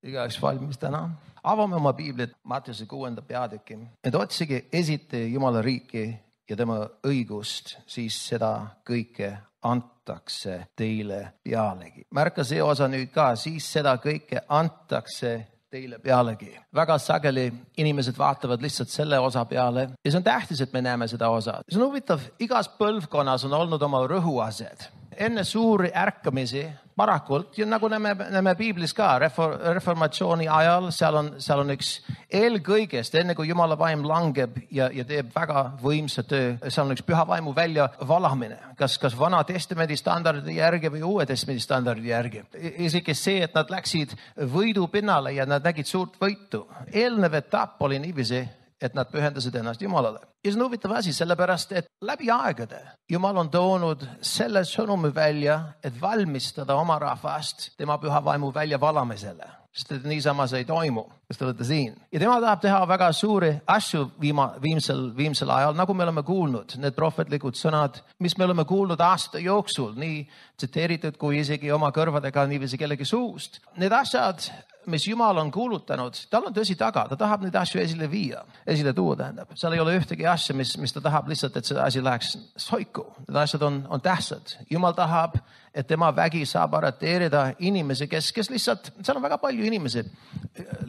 Igaüks valmis täna. Avame oma piiblit Mattiuse 6. peatüki. Et otsige esite Jumala riiki ja tema õigust, siis seda kõike antakse teile pealegi. Märka see osa nüüd ka, siis seda kõike antakse teile pealegi. Väga sageli inimesed vaatavad lihtsalt selle osa peale ja see on tähtis, et me näeme seda osa. See on huvitav, igas põlvkonnas on olnud oma rõhuased. Enne suuri ärkamisi parakult ja nagu näeme piiblis ka reformatsiooni ajal, seal on üks eelkõigest, enne kui Jumala vaim langeb ja teeb väga võimsa töö, seal on üks püha vaimu välja valamine, kas Vana Testamendi standardi järgi või Uue Testamendi standardi järgi. Isegi see, et nad läksid võidu pinnale ja nad nägid suurt võitu. Eelnev etapp oli niiviisi, et nad pühendasid ennast Jumalale. Ja see on huvitav asi, sellepärast, et läbi aegade Jumal on toonud selle sõnumi välja, et valmistada oma rahvast tema püha vaimu välja valamisele. Sest et niisama see ei toimu, kes te olete siin. Ja tema tahab teha väga suuri asju viimsel ajal, nagu me oleme kuulnud. Need prohvetlikud sõnad, mis me oleme kuulnud aasta jooksul, nii tsiteeritud kui isegi oma kõrvadega niiviisi kellegi suust. Need asjad, mis Jumal on kuulutanud, tal on tõsi taga, ta tahab neid asju esile tuua tähendab. Seal ei ole ühtegi asja, mis ta tahab lihtsalt, et see asi läheks soiku. Need asjad on tähtsad. Jumal tahab, et tema vägi saab arreteerida inimesi, kes lihtsalt, seal on väga palju inimesi,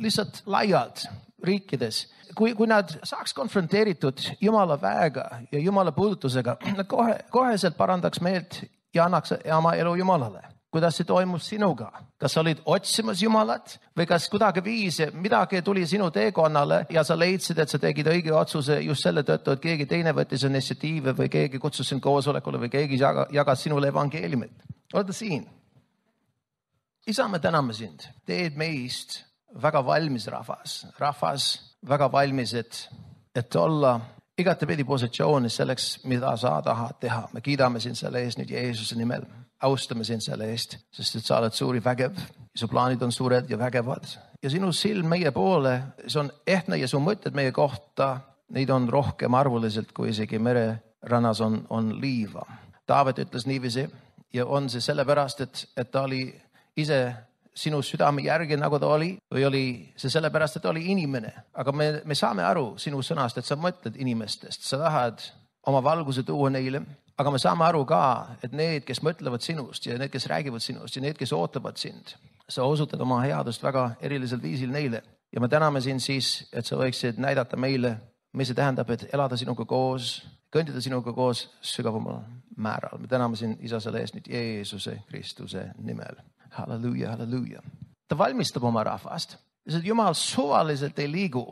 lihtsalt laialt riikides. Kui nad saaks konfronteeritud Jumala väega ja Jumala puudutusega, nad koheselt parandaks meelt ja annaks oma elu Jumalale. Kuidas see toimus sinuga? Kas sa olid otsimas Jumalat või kas kuidagi midagi tuli sinu teekonnale ja sa leidsid, et sa tegid õige otsuse just selle tõttu, et keegi teine võttis initsiatiive või keegi kutsus sind koosolekule või keegi jagas sinule evangeeliumit? Oled siin? Isa, me täname sind. Teed meist väga valmis rahvas väga valmis, et olla igatepidi positsioonis selleks, mida sa tahad teha. Me kiidame sind selle eest nüüd Jeesuse nimel. Austame sind selle eest, sest et sa oled suuri vägev. Su plaanid on suured ja vägevad. Ja sinu silm meie poole, see on ehtne ja su mõtted meie kohta, neid on rohkem arvuliselt, kui isegi mererannas on liiva. Taavet ütles niiviisi ja on see sellepärast, et ta oli ise sinu südame järgi, nagu ta oli, või oli see sellepärast, et ta oli inimene. Aga me saame aru sinu sõnast, et sa mõtled inimestest, sa tahad oma valguse tuua neile. Aga me saame aru ka, et need, kes mõtlevad sinust ja need, kes räägivad sinust ja need, kes ootavad sind, sa osutad oma headust väga erilisel viisil neile. Ja me täname sind siis, et sa võiksid näidata meile, mis see tähendab, et elada sinuga koos, kõndida sinuga koos sügavamal määral. Me täname sind, Isa, selle eest nüüd Jeesuse Kristuse nimel. Halleluuja, halleluuja. Ta valmistab oma rahvast. Jumal suvaliselt ei liigu.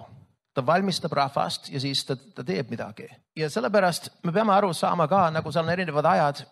Ta valmistab rahvast ja siis ta teeb midagi. Ja sellepärast me peame aru saama ka, nagu seal on erinevad ajad,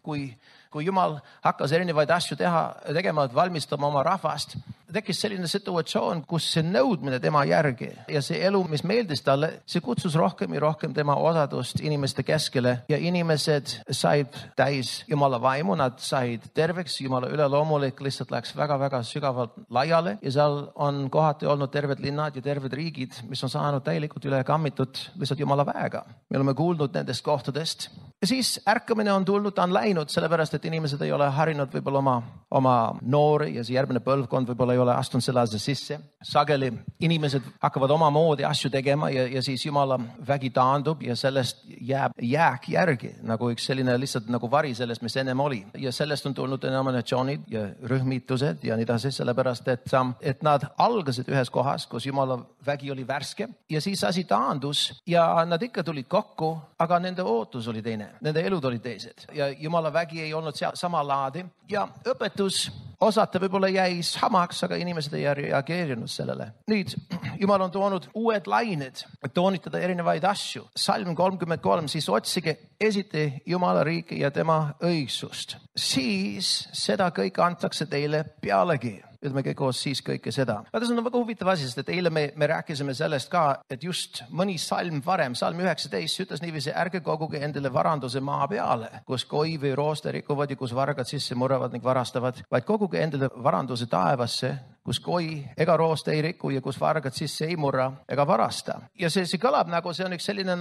kui Jumal hakkas erinevaid asju tegema, et valmistama oma rahvast, tekkis selline situatsioon, kus see nõudmine tema järgi ja see elu, mis meeldis talle, see kutsus rohkem ja rohkem tema osadust inimeste keskele ja inimesed said täis Jumala vaimu, nad said terveks, Jumala üleloomulik lihtsalt läks väga-väga sügavalt laiale ja seal on kohati olnud terved linnad ja terved riigid, mis on saanud täielikult üle kammitud lihtsalt Jumala väega. Me oleme kuulnud nendest kohtadest ja siis ärkamine on tulnud, ta on läinud, sellepärast et inimesed ei ole harinud võib-olla oma noori ja see järgmine põlvkond võib-olla ei ole astunud selle asja sisse. Sageli inimesed hakkavad oma moodi asju tegema ja siis Jumala vägi taandub ja sellest jääb jääk järgi, nagu üks selline lihtsalt nagu vari sellest, mis ennem oli. Ja sellest on tulnud denominatsioonid ja rühmitused ja nii edasi, sellepärast, et nad algasid ühes kohas, kus Jumala vägi oli värske ja siis asi taandus ja nad ikka tulid kokku, aga nende ootus oli teine, nende elud olid teised ja Jumala vägi ei olnud seal sama laadi ja õpetus osata võib-olla jäi samaks, aga inimesed ei reageerinud sellele. Nüüd, Jumal on toonud uued lained, et toonitada erinevaid asju. Salm 33, siis otsige esite Jumala riiki ja tema õigsust. Siis seda kõik antakse teile pealegi. Ütleme kõik koos siis kõike seda. Aga see on väga huvitav asi, sest et eile me rääkisime sellest ka, et just mõni salm varem, salm 19 ütles niiviisi, ärge koguge endale varanduse maa peale, kus koi või rooste rikuvad ja kus vargad sisse murravad ning varastavad, vaid koguge endale varanduse taevasse, kus koi ega rooste ei riku ja kus vargad sisse ei murra ega varasta. Ja see kõlab nagu, see on üks selline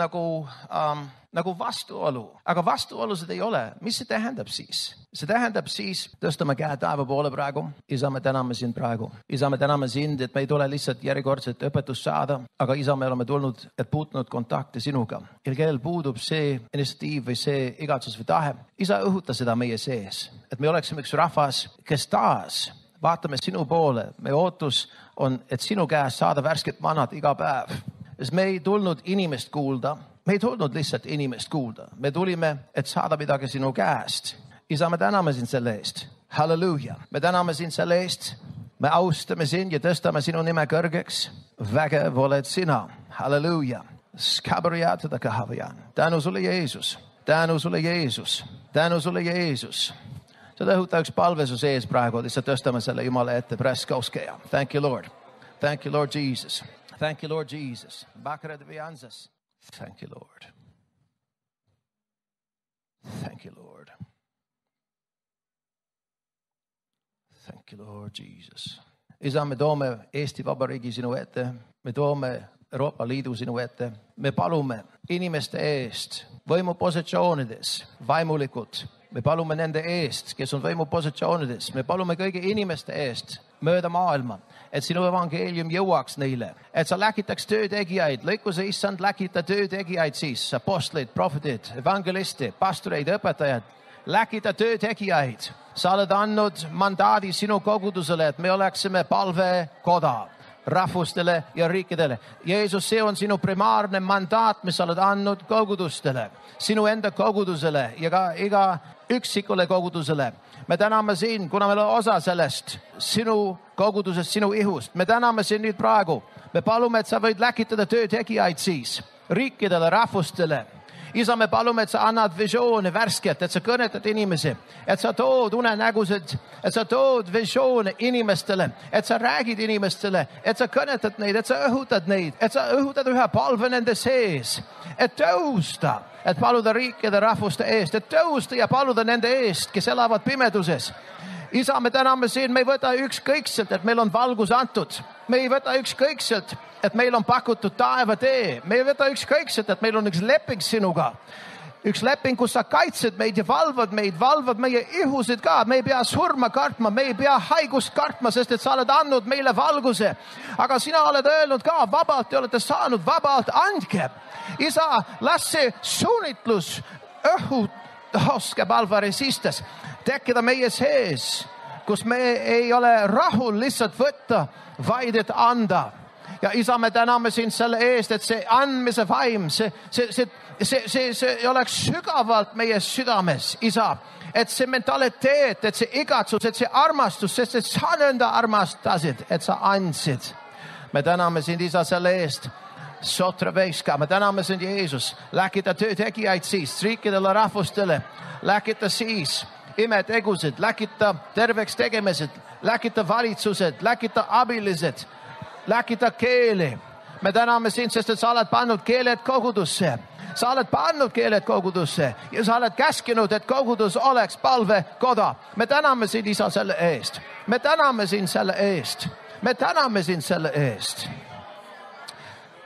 nagu vastuolu, aga vastuolusid ei ole. Mis see tähendab siis? See tähendab siis, tõstame käe taeva poole praegu. Isa, me täname sind praegu. Isa, me täname sind, et me ei tule lihtsalt järjekordset õpetust saada, aga Isa, me oleme tulnud, et puutunud kontakti sinuga. Ja kellel puudub see initsiatiiv või see igatsus või tahe, Isa, õhuta seda meie sees, et me oleksime üks rahvas, kes taas vaatame sinu poole. Meie ootus on, et sinu käest saada värsket manat iga päev. Sest me ei tulnud inimest kuulda. Me ei tulnud lihtsalt inimest kuulda. Me tulime, et saada midagi sinu käest. Isa, me täname sind selle eest. Halleluuja. Me täname sind selle eest. Me austame sind ja tõstame sinu nime kõrgeks. Vägev oled sina. Halleluuja. Skabriatada kahavian. Tänu sulle, Jeesus. Tänu sulle, Jeesus. Tänu sulle, Jeesus. Seda õhuta üks palve su sees praegu. Lihtsalt tõstame selle Jumala ette. Preskouskeja. Thank you, Lord. Thank you, Lord Jesus. Thank you, Lord Jesus. Bakred viansas. Thank you, Lord. Thank you, Lord. Thank you, Lord Jesus. Isa, me toome Eesti Vabariigi sinu ette. Me toome Euroopa Liidu sinu ette. Me palume inimeste eest võimupositsioonides, vaimulikud. Me palume nende eest, kes on võimupositsioonides. Me palume kõigi inimeste eest mööda maailma, et sinu evangeelium jõuaks neile, et sa läkitaks töötegijaid, lõikuse issand läkita töötegijaid siis, apostleid, prohvetid, evangelisti, pastoreid, õpetajad, läkita töötegijaid. Sa oled andnud mandaadi sinu kogudusele, et me oleksime palvekoda rahvustele ja riikidele. Jeesus, see on sinu primaarne mandaat, mis sa oled andnud kogudustele, sinu enda kogudusele ja ka iga üksikule kogudusele. Me täname sind, kuna meil on osa sellest sinu kogudusest, sinu ihust. Me täname sind nüüd praegu. Me palume, et sa võid läkitada töötegijaid siis riikidele, rahvustele. Isa, me palume, et sa annad visioone värsket, et sa kõnetad inimesi, et sa tood unenägused, et sa tood visioone inimestele, et sa räägid inimestele, et sa kõnetad neid, et sa õhutad neid, et sa õhutad ühe palve nende sees, et tõusta, et paluda riikide rahvuste eest, et tõusta ja paluda nende eest, kes elavad pimeduses. Isa, me täname sind, me ei võta ükskõikselt, et meil on valgus antud. Me ei võta ükskõikselt, et meil on pakutud taevatee. Me ei võta ükskõikselt, et meil on üks leping sinuga. Üks leping, kus sa kaitsed meid ja valvad meie ihusid ka. Me ei pea surma kartma, me ei pea haigust kartma, sest et sa oled andnud meile valguse. Aga sina oled öelnud ka, vabalt te olete saanud, vabalt andke. Isa, las see suunitlus õhutoske palvaresistes tekkida meie sees, kus me ei ole rahul lihtsalt võtta, vaid et anda. Ja Isa, me täname sind selle eest, et see andmise vaim, see oleks sügavalt meie südames, Isa. Et see mentaliteet, et see igatsus, et see armastus, sest et sa nõnda armastasid, et sa andsid. Me täname sind, Isa, selle eest. Sotra veiska, me täname sind, Jeesus. Läkita töötegijaid siis, riikidele, rahvustele. Läkita siis imetegusid, läkita terveks tegemised, läkita valitsused, läkita abilised, läkita keeli. Me täname sind, sest et sa oled pannud keeled kogudusse. Sa oled pannud keeled kogudusse ja sa oled käskinud, et kogudus oleks palvekoda. Me täname sind, Isa, selle eest. Me täname sind selle eest. Me täname sind selle eest.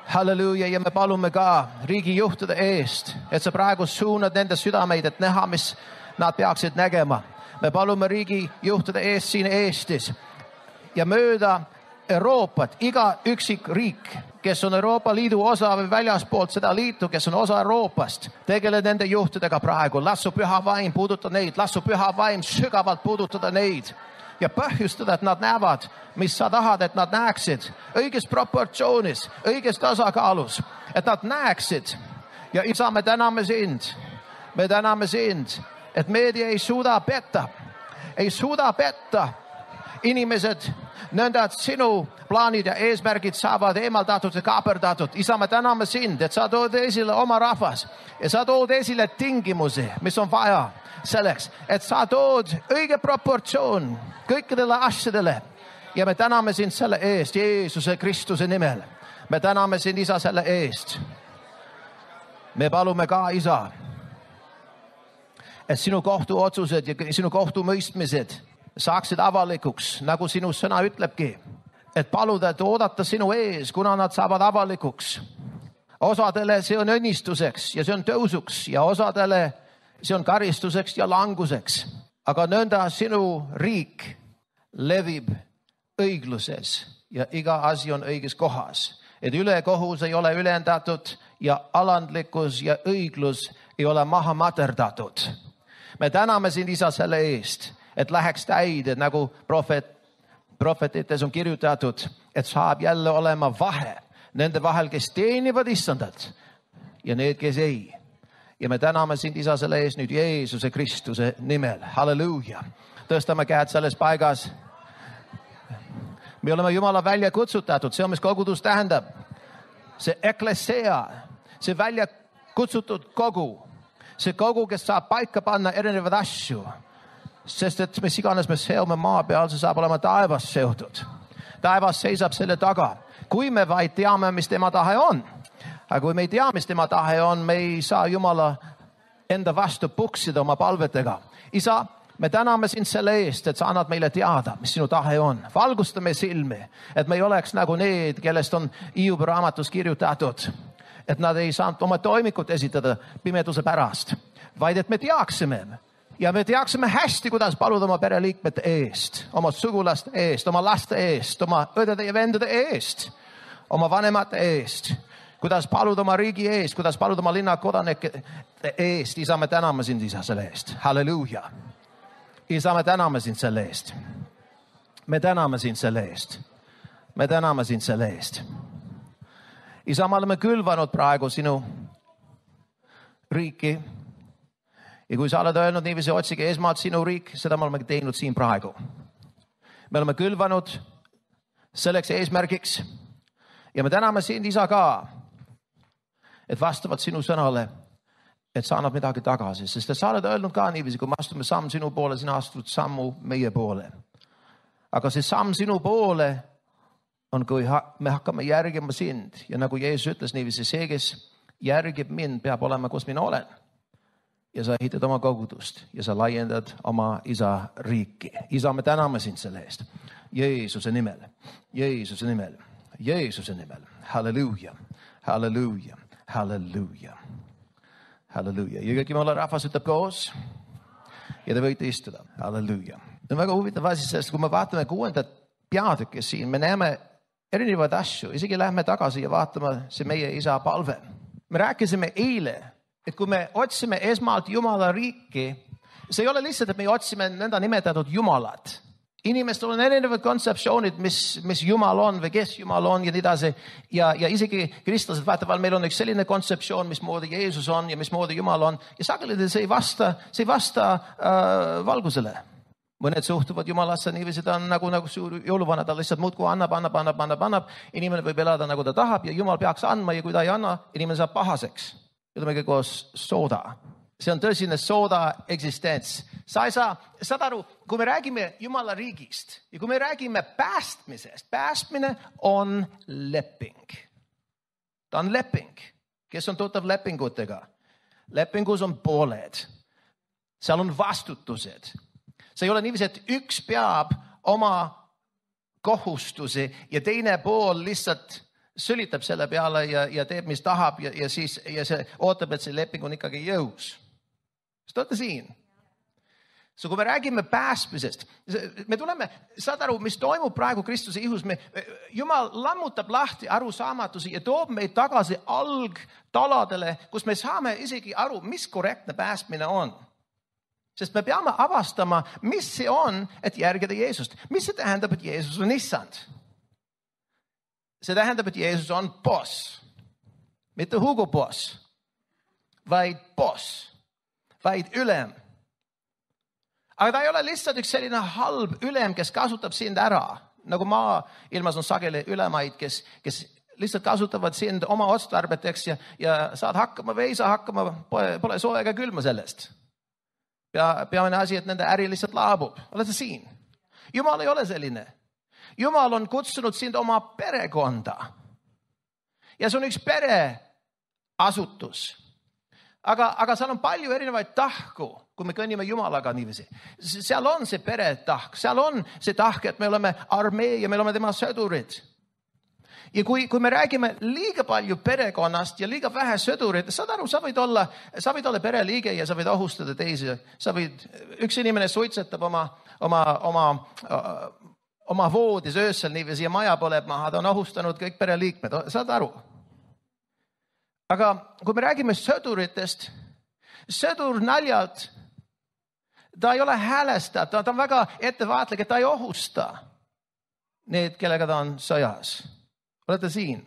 Halleluuja, ja me palume ka riigijuhtide eest, et sa praegu suunad nende südameid, et näha, mis nad peaksid nägema. Me palume riigijuhtide eest siin Eestis ja mööda Euroopat, iga üksik riik, kes on Euroopa Liidu osa või väljaspoolt seda liitu, kes on osa Euroopast, tegele nende juhtidega praegu. Lassu püha vaim puudutada neid, lassu püha vaim sügavalt puudutada neid ja põhjustada, et nad näevad, mis sa tahad, et nad näeksid õiges proportsioonis, õiges tasakaalus, et nad näeksid. Ja Isa, me täname sind. Me täname sind, et meedia ei suuda petta. Ei suuda petta. Inimesed nõnda, et sinu plaanid ja eesmärgid saavad eemaldatud ja kaaperdatud. Isa, me täname sind, et sa tood esile oma rahvas ja sa tood esile tingimusi, mis on vaja selleks, et sa tood õige proportsioon kõikidele asjadele. Ja me täname sind selle eest, Jeesuse Kristuse nimel. Me täname sind, Isa, selle eest. Me palume ka, Isa, et sinu kohtuotsused ja sinu kohtumõistmised saaksid avalikuks, nagu sinu sõna ütlebki, et paluda, et oodata sinu ees, kuna nad saavad avalikuks. Osadele see on õnnistuseks ja see on tõusuks ja osadele see on karistuseks ja languseks. Aga nõnda sinu riik levib õigluses ja iga asi on õiges kohas. Et ülekohus ei ole ülendatud ja alandlikkus ja õiglus ei ole maha materdatud. Me täname sind, Isa, selle eest, et läheks täide, nagu prohvetites on kirjutatud, et saab jälle olema vahe nende vahel, kes teenivad Issandat ja need, kes ei. Ja me täname sind, Isa, selle eest nüüd Jeesuse Kristuse nimel. Halleluuja. Tõstame käed selles paigas. Me oleme Jumala välja kutsutatud. See on, mis kogudus tähendab. See eklesea, see välja kutsutud kogu. See kogu, kes saab paika panna erinevad asju. Sest et mis iganes me seome maa peal, see saab olema taevas seotud. Taevas seisab selle taga. Kui me vaid teame, mis tema tahe on. Aga kui me ei tea, mis tema tahe on, me ei saa Jumala enda vastu puksida oma palvetega. Isa, me täname sind selle eest, et sa annad meile teada, mis sinu tahe on. Valgustame silmi, et me ei oleks nagu need, kellest on Hiiobi raamatus kirjutatud. Et nad ei saanud oma toimikut esitada pimeduse pärast, vaid et me teaksime. Ja me teaksime hästi, kuidas paluda oma pereliikmete eest, oma sugulaste eest, oma laste eest, oma õdede ja vendade eest, oma vanemate eest. Kuidas paluda oma riigi eest, kuidas paluda oma linna kodanike eest. Isa, me täname sind, Isa, selle eest. Halleluuja. Isa, me täname sind selle eest. Me täname sind selle eest. Me täname sind selle eest. Isa, me oleme külvanud praegu sinu riiki. Ja kui sa oled öelnud niiviisi, otsige esmalt sinu riik, seda me oleme teinud siin praegu. Me oleme külvanud selleks eesmärgiks. Ja me täname sind, Isa, ka, et vastavalt sinu sõnale, et sa annad midagi tagasi. Sest sa oled öelnud ka niiviisi, kui me astume samm sinu poole, sina astud sammu meie poole. Aga see samm sinu poole on, kui me hakkame järgima sind. Ja nagu Jeesus ütles niiviisi, see, kes järgib mind, peab olema, kus mina olen. Ja sa ehitad oma kogudust ja sa laiendad oma Isa riiki. Isa, me täname sind selle eest. Jeesuse nimel, Jeesuse nimel, Jeesuse nimel. Halleluuja, halleluuja, halleluuja, halleluuja. Ja kõik Jumala rahvas ütleb koos ja te võite istuda. Halleluuja. See on väga huvitav asi, sest kui me vaatame 6. peatükki siin, me näeme erinevaid asju. Isegi lähme tagasi ja vaatame see meie Isa palve. Me rääkisime eile, et kui me otsime esmalt Jumala riiki, see ei ole lihtsalt, et me otsime nõnda nimetatud Jumalat. Inimestel on erinevad kontseptsioonid, mis Jumal on või kes Jumal on ja nii edasi. Ja isegi kristlased vaatavad, meil on üks selline kontseptsioon, mismoodi Jeesus on ja mismoodi Jumal on. Ja sageli see ei vasta valgusele. Mõned suhtuvad Jumalasse niiviisi, ta on nagu suur jõuluvana, ta lihtsalt muudkui annab. Inimene võib elada nagu ta tahab ja Jumal peaks andma ja kui ta ei anna, inimene saab pahaseks. Ütleme koos sooda. See on tõsine sooda eksistents. Sa ei saa, saad aru, kui me räägime Jumala riigist ja kui me räägime päästmisest, päästmine on leping. Ta on leping. Kes on tuttav lepingutega? Lepingus on pooled. Seal on vastutused. See ei ole niiviisi, et üks peab oma kohustusi ja teine pool lihtsalt sülitab selle peale ja teeb, mis tahab ja see ootab, et see leping on ikkagi jõus. Kas te olete siin? Kui me räägime päästmisest, me tuleme, saad aru, mis toimub praegu Kristuse ihus. Jumal lammutab lahti arusaamatusi ja toob meid tagasi algtaladele, kus me saame isegi aru, mis korrektne päästmine on. Sest me peame avastama, mis see on, et järgida Jeesust. Mis see tähendab, et Jeesus on issand? See tähendab, et Jeesus on boss. Mitte Hugo boss, vaid boss, vaid ülem. Aga ta ei ole lihtsalt üks selline halb ülem, kes kasutab sind ära. Nagu maailmas on sageli ülemaid, kes lihtsalt kasutavad sind oma otstarbeteks ja saad hakkama või ei saa hakkama, pole soe ega külma sellest. Peamine asi, et nende äri lihtsalt laabub. Oled sa siin? Jumal ei ole selline. Jumal on kutsunud sind oma perekonda. Ja see on üks pereasutus. Aga seal on palju erinevaid tahku, kui me kõnnime Jumalaga niiviisi. Seal on see peretahk, seal on see tahk, et me oleme armee ja me oleme tema sõdurid. Ja kui me räägime liiga palju perekonnast ja liiga vähe sõdurit, saad aru, sa võid olla pereliige ja sa võid ohustada teisi. Üks inimene suitsetab oma voodis öösel niiviisi ja maja põleb maha, ta on ohustanud kõik pereliikmed, saad aru? Aga kui me räägime sõduritest, sõdur naljalt, ta ei ole häälestatud, ta on väga ettevaatlik, et ta ei ohusta need, kellega ta on sõjas. Olete siin?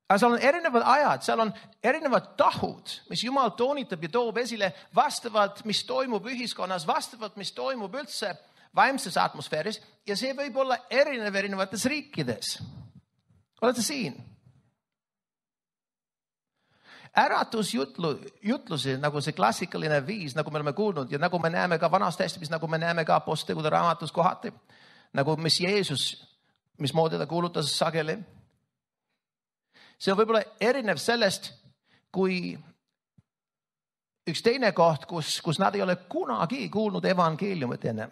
Aga seal on erinevad ajad, seal on erinevad tahud, mis Jumal toonitab ja toob esile vastavalt, mis toimub ühiskonnas, vastavalt, mis toimub üldse vaimses atmosfääris ja see võib olla erinevates riikides. Olete siin? Äratusjutlusi, nagu see klassikaline viis, nagu me oleme kuulnud ja nagu me näeme ka Vanas Testamentis, nagu me näeme ka Apostlite raamatus kohati, nagu mis Jeesus, mismoodi ta kuulutas sageli. See on võib-olla erinev sellest, kui üks teine koht, kus nad ei ole kunagi kuulnud evangeeliumit enne.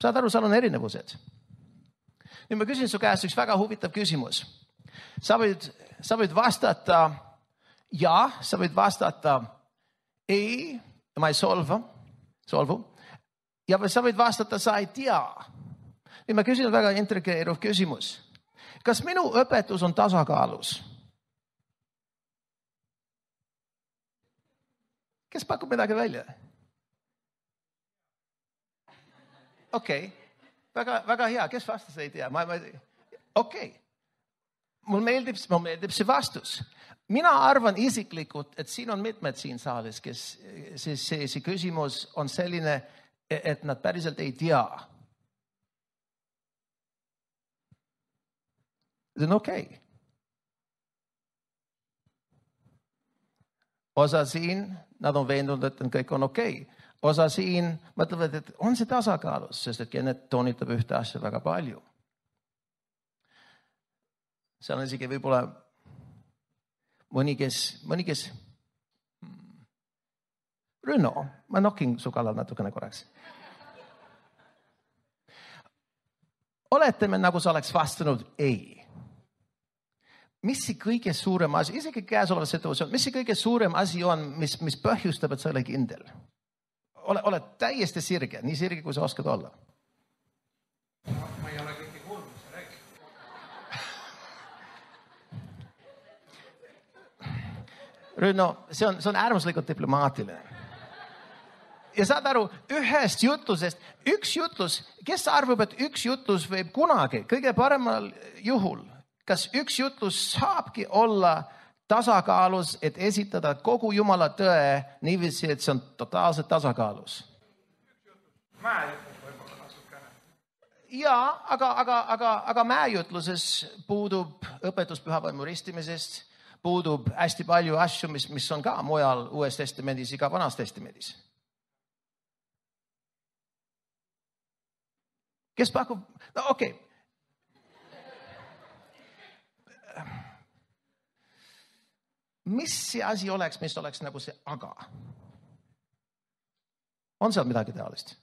Saad aru, seal on erinevused. Nüüd ma küsin su käest üks väga huvitav küsimus. Sa võid vastata ja, sa võid vastata ei, ma ei solvu. Ja sa võid vastata, sa ei tea. Nüüd ma küsin väga intrigeeruv küsimus. Kas minu õpetus on tasakaalus? Kes pakub midagi välja? Okei. Väga hea. Kes vastas ei tea? Okei. Mul meeldib see vastus. Mina arvan isiklikult, et siin on mitmed siin saalis, kes see küsimus on selline, et nad päriselt ei tea. See on okei. Osa siin, nad on veendunud, et kõik on okei. Osa siin mõtlevad, et on see tasakaalus, sest et Kenneth toonitab ühte asja väga palju. Seal on isegi võib-olla mõni, kes Rünno, ma nokin su kallal natukene korraks. Oletame, nagu sa oleks vastanud ei. Mis see kõige suurem asi, isegi käesoleva situatsioon, mis see kõige suurem asi on, mis põhjustab, et sa ole kindel? Ole täiesti sirge, nii sirge, kui sa oskad olla. Ma ei ole kõike kuulnud, mis sa räägid. Rünno, see on äärmuslikult diplomaatiline. Ja saad aru, ühest jutlusest, üks jutlus, kes arvab, et üks jutlus võib kunagi, kõige paremal juhul, kas üks jutlus saabki olla tasakaalus, et esitada kogu Jumala tõe niiviisi, et see on totaalselt tasakaalus? Mäejutlus võib-olla natukene. Jaa, aga mäejutluses puudub õpetus pühavaimu ristimisest, puudub hästi palju asju, mis on ka mujal Uues Testamendis ja ka Vanas Testamendis. Kes pakub? No okei. Mis see asi oleks, mis oleks nagu see aga? On seal midagi taolist?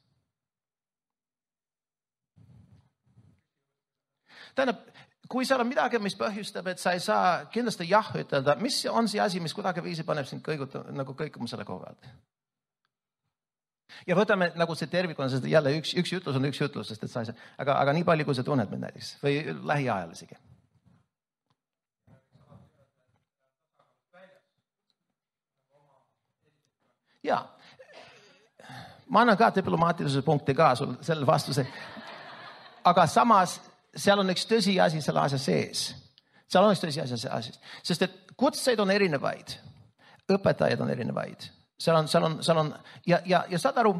Tähendab, kui seal on midagi, mis põhjustab, et sa ei saa kindlasti jah ütelda, mis on see asi, mis kuidagi viisi paneb sind kõikuma selle koha pealt? Ja võtame nagu see tervikuna, sest jälle üks jutlus on üks jutlus, sest et sa ei saa, aga nii palju, kui sa tunned mind näiteks või lähiajal isegi. Ja, ma annan ka diplomaatilise punkti ka sul selle vastuse, aga samas seal on üks tõsiasi selle asja sees. Seal on üks tõsiasi selle asja sees, sest et kutseid on erinevaid, õpetajaid on erinevaid. Seal on ja saad aru,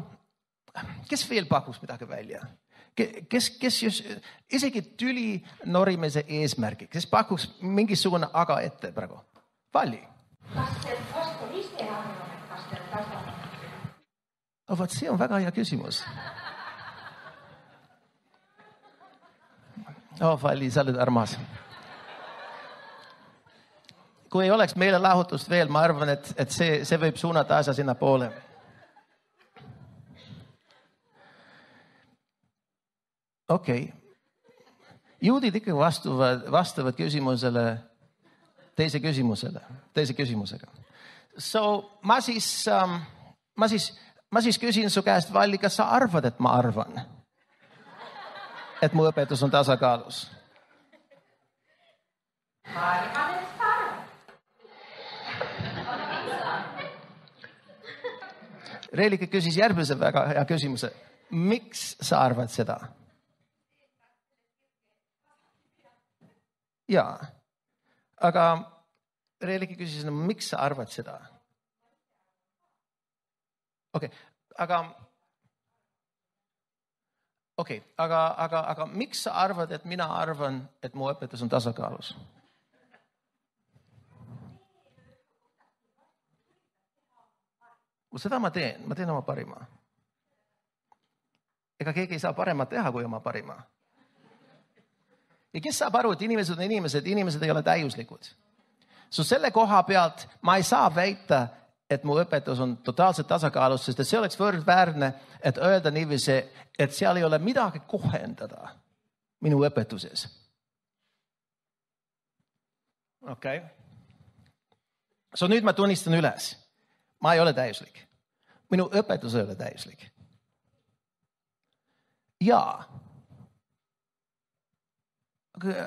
kes veel pakuks midagi välja? Kes just, isegi tüli norimise eesmärgi, kes pakuks mingisugune aga ette praegu? Valli. Kas teil pastor ise arvab, et kas teil tasakaalus? Vaat see on väga hea küsimus. Valli, sa oled armas. Kui ei oleks meile lahutust veel, ma arvan, et see võib suunata asja sinna poole. Okei. juudid ikka vastavad küsimusele teise küsimusega. So ma siis küsin su käest, Valli, kas sa arvad, et ma arvan, et mu õpetus on tasakaalus? Ma arvan, et sa arvad. Reelike küsis järgmise väga hea küsimuse. Miks sa arvad seda? Jaa, aga Reelike küsis, miks sa arvad seda? Okei, aga miks sa arvad, et mina arvan, et mu õpetus on tasakaalus? Seda ma teen oma parima. Ega keegi ei saa paremat teha kui oma parima. Ja kes saab aru, et inimesed ei ole täiuslikud. So selle koha pealt ma ei saa väita, et mu õpetus on totaalselt tasakaalus, sest see oleks võrdväärne, et öelda niiviisi, et seal ei ole midagi kohendada minu õpetuses. Okei. So nüüd ma tunnistan üles. Ma ei ole täiuslik. Minu õpetus ei ole täiuslik. Jaa.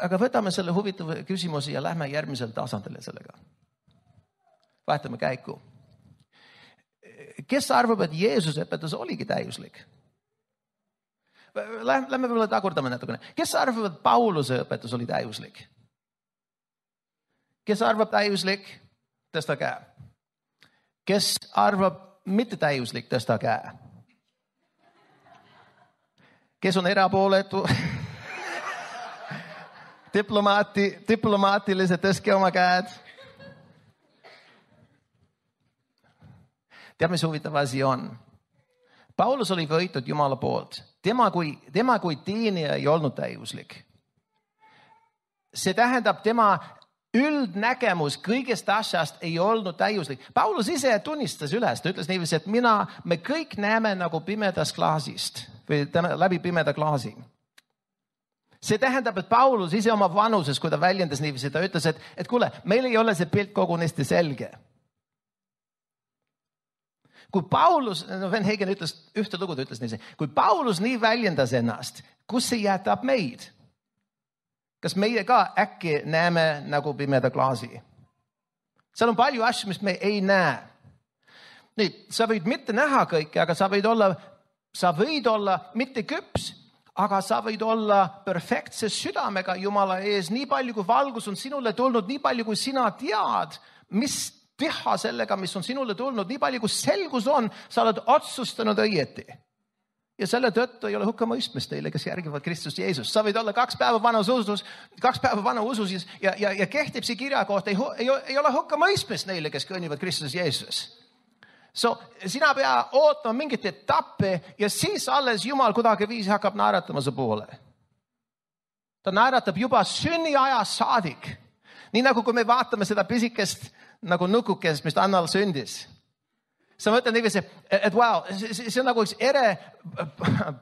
Aga võtame selle huvitava küsimusi ja lähme järgmisele tasandile sellega. Vahetame käiku. Kes arvab, et Jeesuse õpetus oligi täiuslik? Lähme võib-olla tagurdame natukene. Kes arvab, et Pauluse õpetus oli täiuslik? Kes arvab täiuslik? Tõsta käe. Kes arvab mitte täiuslik? Tõsta käe. Kes on erapooletu? Diplomaatiliselt tõstke oma käed. Tead, mis huvitav asi on? Paulus oli võitud Jumala poolt. Tema kui teenija ei olnud täiuslik. See tähendab, tema üldnägemus kõigest asjast ei olnud täiuslik. Paulus ise tunnistas üles, ta ütles niiviisi, et me kõik näeme nagu pimedast klaasist või läbi pimeda klaasi. See tähendab, et Paulus ise oma vanuses, kui ta väljendas niiviisi, ta ütles, et kuule, meil ei ole see pilt kogunisti selge. Kui Paulus, Van Hagen ütles ühte lugu, ta ütles niiviisi, kui Paulus nii väljendas ennast, kus see jätab meid? Kas meie ka äkki näeme nagu pimeda klaasi? Seal on palju asju, mis me ei näe. Nüüd, sa võid mitte näha kõike, aga sa võid olla mitte küps, aga sa võid olla perfektse südamega Jumala ees. Nii palju, kui valgus on sinule tulnud, nii palju, kui sina tead, mis teha sellega, mis on sinule tulnud, nii palju, kui selgus on, sa oled otsustanud õieti. Ja selle tõttu ei ole hukkamõistmist teile, kes järgivad Kristus Jeesus. Sa võid olla 2 päeva vana usus ja kehtib see kirja kohta. Ei ole hukkamõistmist neile, kes kõnnivad Kristus Jeesus. So, sina pea ootama mingit etappe ja siis alles Jumal kuidagi viisi hakkab naeratama su poole. Ta naeratab juba sünniajast saadik. Nii nagu kui me vaatame seda pisikest nagu nukukest, mis Annal sündis. Sa mõtled niiviisi, et wow, see on nagu üks ere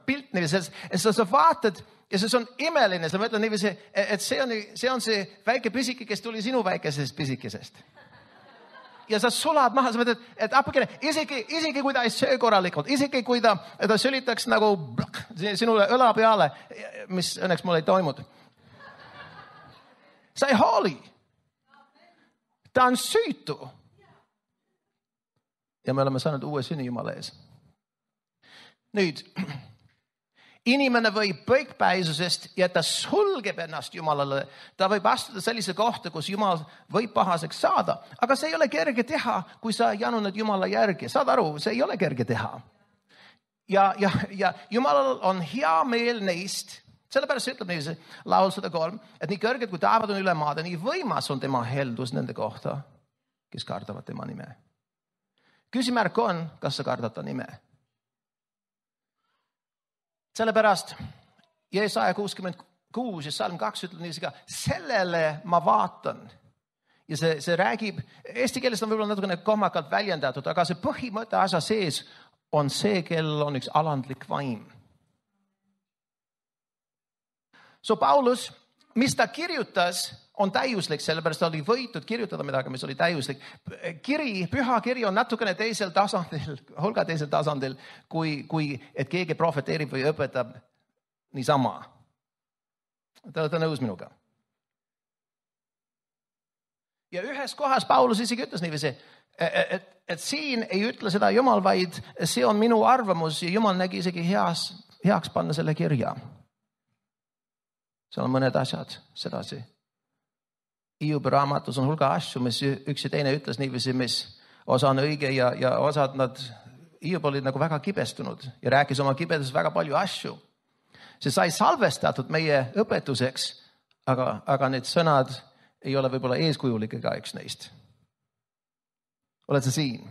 pilt niiviisi. Sa vaatad ja see on imeline. Sa mõtled niiviisi, et see on see väike pisike, kes tuli sinu väikesest pisikesest. Ja sa sulad maha, sa mõtled, et apakene, isegi kui ta ei söö korralikult, isegi kui ta sülitaks nagu sinule õla peale, mis õnneks mul ei toimunud. Sa ei hooli. Ta on süütu. Ja me oleme saanud uue sünni Jumala ees. Nüüd, inimene võib põikpäisusest ja ta sulgeb ennast Jumalale. Ta võib astuda sellise kohta, kus Jumal võib pahaseks saada. Aga see ei ole kerge teha, kui sa januned Jumala järgi. Saad aru, see ei ole kerge teha. Ja Jumalal on hea meel neist. Sellepärast ütleb niiviisi laul 103, et nii kõrged kui taevad on üle maade, nii võimas on tema heldus nende kohta, kes kardavad tema nime. Küsimärk on, kas sa kardad ta nime. Sellepärast Jesaja 66 ja Salm 2 ütleb niiviisi ka, sellele ma vaatan. Ja see räägib, eesti keeles on võib-olla natukene kohmakalt väljendatud, aga see põhimõte asja sees on see, kellel on üks alandlik vaim. So Paulus, mis ta kirjutas, on täiuslik, sellepärast oli võitud kirjutada midagi, mis oli täiuslik. Püha kiri on natukene teisel tasandil, hulga teisel tasandil, kui et keegi profeteerib või õpetab niisama. Te olete nõus minuga. Ja ühes kohas Paulus isegi ütles niiviisi, et siin ei ütle seda Jumal, vaid see on minu arvamus ja Jumal nägi isegi heaks panna selle kirja. Seal on mõned asjad sedasi. Hiobi raamatus on hulga asju, mis üks ja teine ütles niiviisi, mis osa on õige ja osad Hiob olid nagu väga kibestunud ja rääkis oma kibeduses väga palju asju. See sai salvestatud meie õpetuseks, aga need sõnad ei ole võib-olla eeskujulik ega üks neist. Oled sa siin?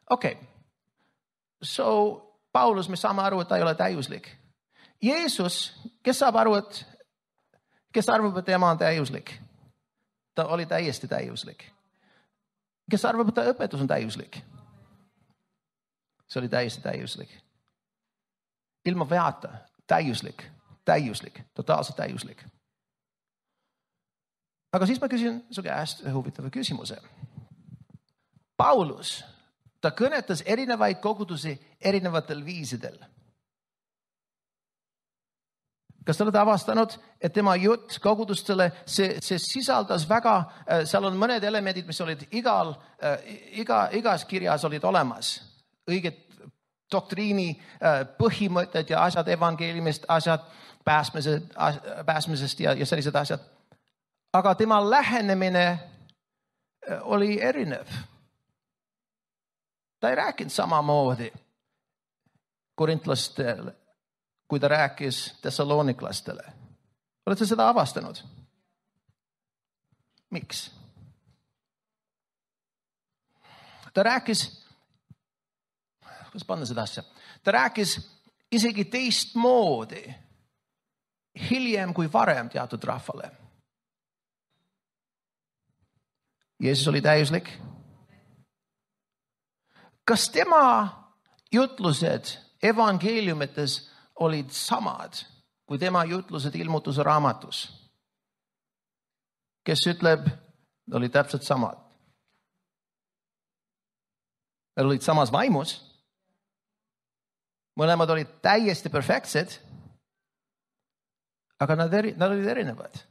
Okei. So Paulus, me saame aru, et ta ei ole täiuslik. Jeesus, kes arvab, et tema on täiuslik? Ta oli täiesti täiuslik. Kes arvab, et ta õpetus on täiuslik? See oli täiesti täiuslik. Ilma veata, täiuslik, totaalselt täiuslik. Aga siis ma küsin su käest huvitava küsimuse. Paulus, ta kõnetas erinevaid kogudusi erinevatel viisidel. Kas te olete avastanud, et tema jutt kogudustele, see sisaldas väga, seal on mõned elemendid, mis olid igas kirjas olid olemas. Õiged doktriini põhimõtted ja asjad evangeeliumist, asjad pääsmisest ja sellised asjad. Aga tema lähenemine oli erinev. Ta ei rääkinud samamoodi korintlastele, kui ta rääkis tessaloniklastele. Olete seda avastanud? Miks? Ta rääkis, kuidas panna seda asja? Ta rääkis isegi teistmoodi hiljem kui varem teatud rahvale. Jeesus oli täiuslik. Kas tema jutlused evangeeliumites olid samad kui tema jutlused ilmutuse raamatus? Kes ütleb, olid täpselt samad. Nad olid samas vaimus. Mõlemad olid täiesti perfektsed, aga nad olid erinevad.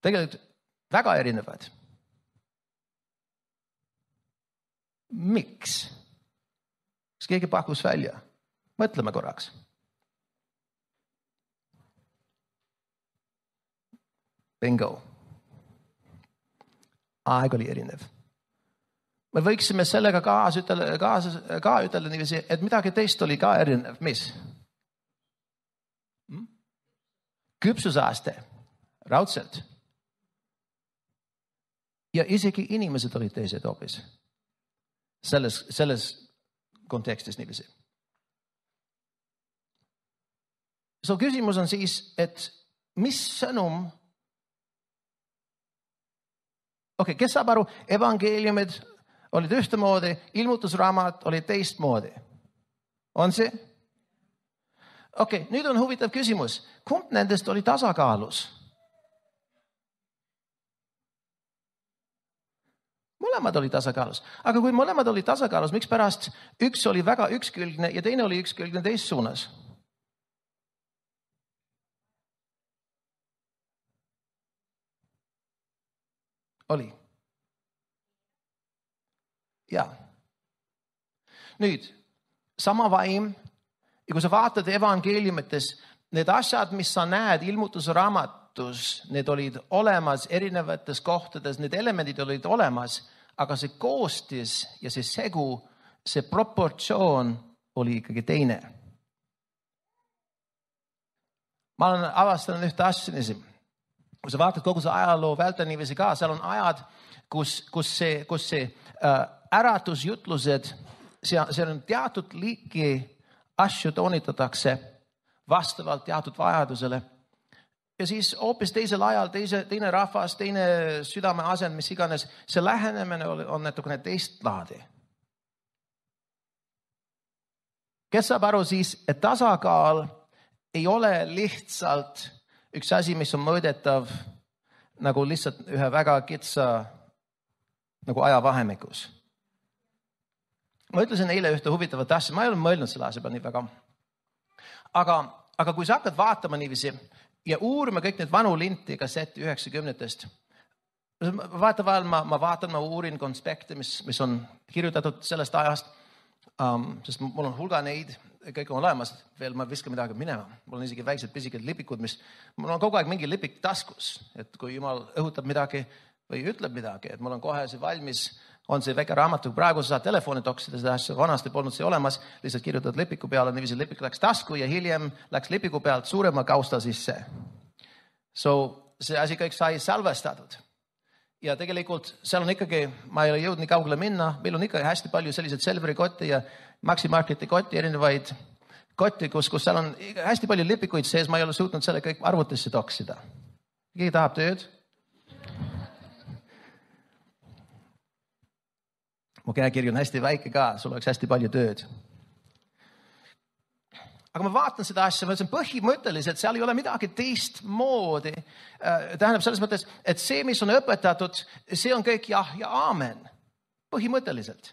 Tegelikult väga erinevad. Miks? Kas keegi pakkus välja? Mõtleme korraks. Bingo. Aeg oli erinev. Me võiksime sellega ka ütelda niiviisi, et midagi teist oli ka erinev. Mis? Küpsusaste. Raudselt. Ja isegi inimesed olid teised hoopis. Selles kontekstis niiviisi. So küsimus on siis, et mis sõnum, kes saab aru, evangeeliumid olid ühtemoodi, ilmutusraamat oli teistmoodi. On see? Nüüd on huvitav küsimus. Kumb nendest oli tasakaalus? Mõlemad oli tasakaalus. Aga kui mõlemad oli tasakaalus, miks pärast üks oli väga ükskülgne ja teine oli ükskülgne teist suunas? Oli. Ja. Nüüd, sama vaim, ja kui sa vaatad evangeeliumites, need asjad, mis sa näed ilmutuse raamatus, need olid olemas erinevates kohtades, need elemendid olid olemas, aga see koostis ja see segu, see proportsioon oli ikkagi teine. Ma olen avastanud ühte asja. Kui sa vaatad kogu see ajaloo vältel niiviisi ka, seal on ajad, kus see äratusjutlused, see on teatud liiki asju toonitatakse vastavalt teatud vajadusele. Ja siis hoopis teisel ajal, teine rahvas, teine südame asend, mis iganes, see lähenemine on natukene teist laadi. Kes saab aru siis, et tasakaal ei ole lihtsalt üks asi, mis on mõõdetav nagu lihtsalt ühe väga kitsa nagu ajavahemikus. Ma ütlesin eile ühte huvitavat asja, ma ei ole mõelnud selle asja peale nii väga. Aga kui sa hakkad vaatama niiviisi ja uurima kõik need vanu linti kasseti 90-test, vaata vahel ma vaatan, ma uurin konspekte, mis on kirjutatud sellest ajast, sest mul on hulga neid, kõik on olemas, veel ma viskan midagi minema. Mul on isegi väiksed pisikad lipikud, mul on kogu aeg mingi lipik taskus, et kui Jumal õhutab midagi või ütleb midagi, et mul on kohe see valmis, on see väike raamatu, praegu sa saad telefoni toksida seda asja, vanasti polnud see olemas, lihtsalt kirjutad lipiku peale, niiviisi lipik läks tasku ja hiljem läks lipiku pealt suurema kausta sisse. So see asi kõik sai salvestatud. Ja tegelikult seal on ikkagi, ma ei ole jõudnud nii kaugele minna, meil on ikka hästi palju sellised Selveri kotti ja Maxi Marketi kotti, erinevaid kotti, kus seal on hästi palju lipikuid sees, ma ei ole suutnud selle kõik arvutisse toksida. Keegi tahab tööd? Mu käekiri on hästi väike ka, sul oleks hästi palju tööd. Aga ma vaatan seda asja, ma ütlen põhimõtteliselt, seal ei ole midagi teistmoodi. Tähendab selles mõttes, et see, mis on õpetatud, see on kõik jah ja aamen. Põhimõtteliselt.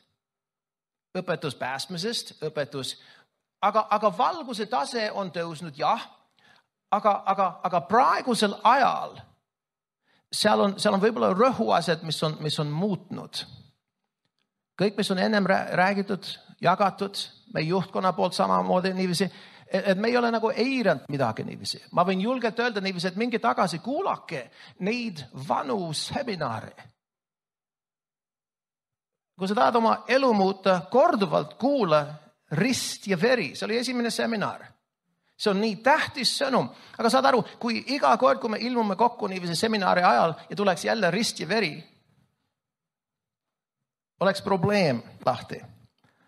Õpetus päästmisest, õpetus. Aga valguse tase on tõusnud, jah. Aga praegusel ajal seal on võib-olla rõhuased, mis on muutnud. Kõik, mis on ennem räägitud, jagatud, meie juhtkonna poolt samamoodi niiviisi, et me ei ole nagu eiranud midagi niiviisi. Ma võin julgelt öelda niiviisi, et mingi tagasi kuulake neid vanu seminare. Kui sa tahad oma elu muuta, korduvalt kuula rist ja veri. See oli esimene seminar. See on nii tähtis sõnum. Aga saad aru, kui iga kord, kui me ilmume kokku niiviisi seminari ajal ja tuleks jälle rist ja veri, oleks probleem lahti.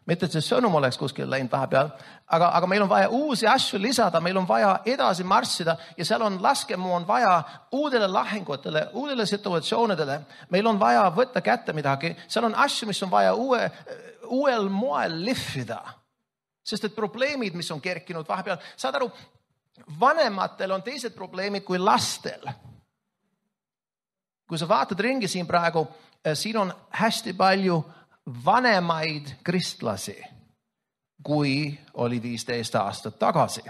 Mitte, et see sõnum oleks kuskil läinud vahepeal, aga meil on vaja uusi asju lisada, meil on vaja edasi marssida ja seal on laskemoon vaja uudele lahingutele, uudele situatsioonidele. Meil on vaja võtta kätte midagi. Seal on asju, mis on vaja uuel moel lihvida. Sest et probleemid, mis on kerkinud vahepeal, saad aru, vanematel on teised probleemid kui lastel. Kui sa vaatad ringi siin praegu, siin on hästi palju vanemaid kristlasi, kui oli 15 aastat tagasi,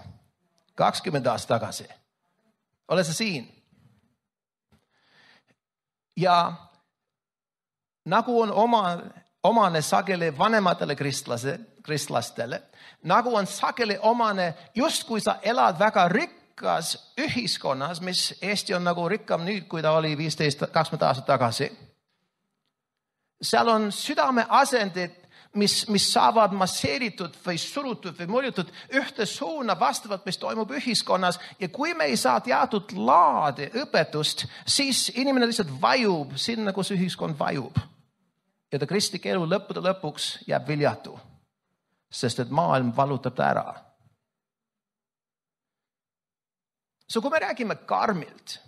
20 aastat tagasi. Oled sa siin? Ja nagu on omane sageli vanematele kristlastele, nagu on sageli omane, just kui sa elad väga rikkas ühiskonnas, mis Eesti on nagu rikkam nüüd, kui ta oli 15-20 aastat tagasi. Seal on südame asendid, mis saavad masseeritud või surutud või mõjutud ühte suuna vastavalt, mis toimub ühiskonnas. Ja kui me ei saa teatud laadi õpetust, siis inimene lihtsalt vajub sinna, kus ühiskond vajub. Ja ta kristlik elu lõppude lõpuks jääb viljatu, sest et maailm valutab ta ära. So kui me räägime karmilt,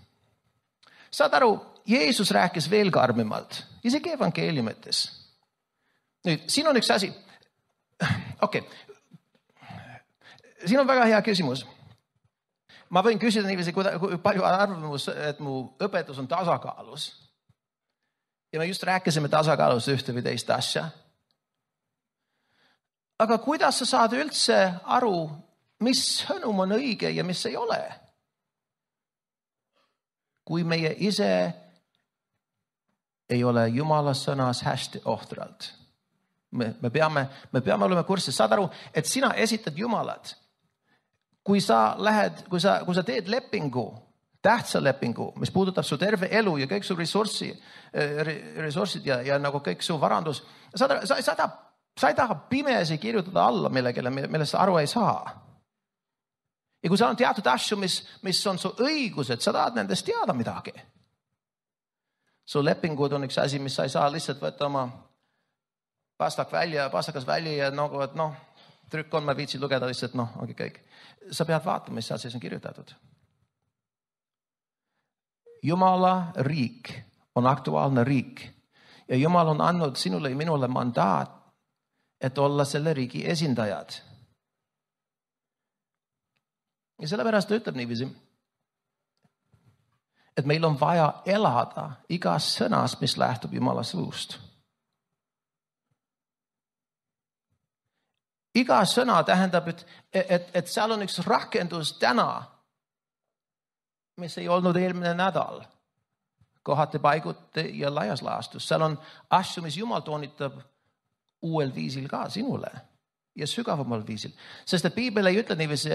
saad aru, Jeesus rääkis veel karmimalt, isegi evangeeliumites. Nüüd, siin on üks asi. Okei. Siin on väga hea küsimus. Ma võin küsida niiviisi, kui palju arvamus, et mu õpetus on tasakaalus. Ja me just rääkisime tasakaalus ühte või teist asja. Aga kuidas sa saad üldse aru, mis sõnum on õige ja mis ei ole? Kui meie ise ei ole Jumala sõnas hästi ohtralt. Me peame olema kursis. Saad aru, et sina esitad Jumalat. Kui sa teed lepingu, tähtsa lepingu, mis puudutab su terve elu ja kõik su ressursid ja nagu kõik su varandus, sa ei taha pimesi kirjutada alla millegile, millest sa aru ei saa. Ja kui sa on teatud asju, mis on su õigused, sa tahad nendest teada midagi. Su lepingud on üks asi, mis sa ei saa lihtsalt võtta oma pastakas välja ja nagu, et trükk on, ma viitsin lugeda lihtsalt, ongi kõik. Sa pead vaatama, mis seal sees on kirjutatud. Jumala riik on aktuaalne riik ja Jumal on andnud sinule ja minule mandaat, et olla selle riigi esindajad. Ja sellepärast ta ütleb niiviisi, et meil on vaja elada igas sõnast, mis lähtub Jumala suust. Iga sõna tähendab, et seal on üks rakendus täna, mis ei olnud eelmine nädal. Kohati paiguti ja laias laastus. Seal on asju, mis Jumal toonitab uuel viisil ka sinule ja sügavamal viisil. Sest et Piibel ei ütle niiviisi,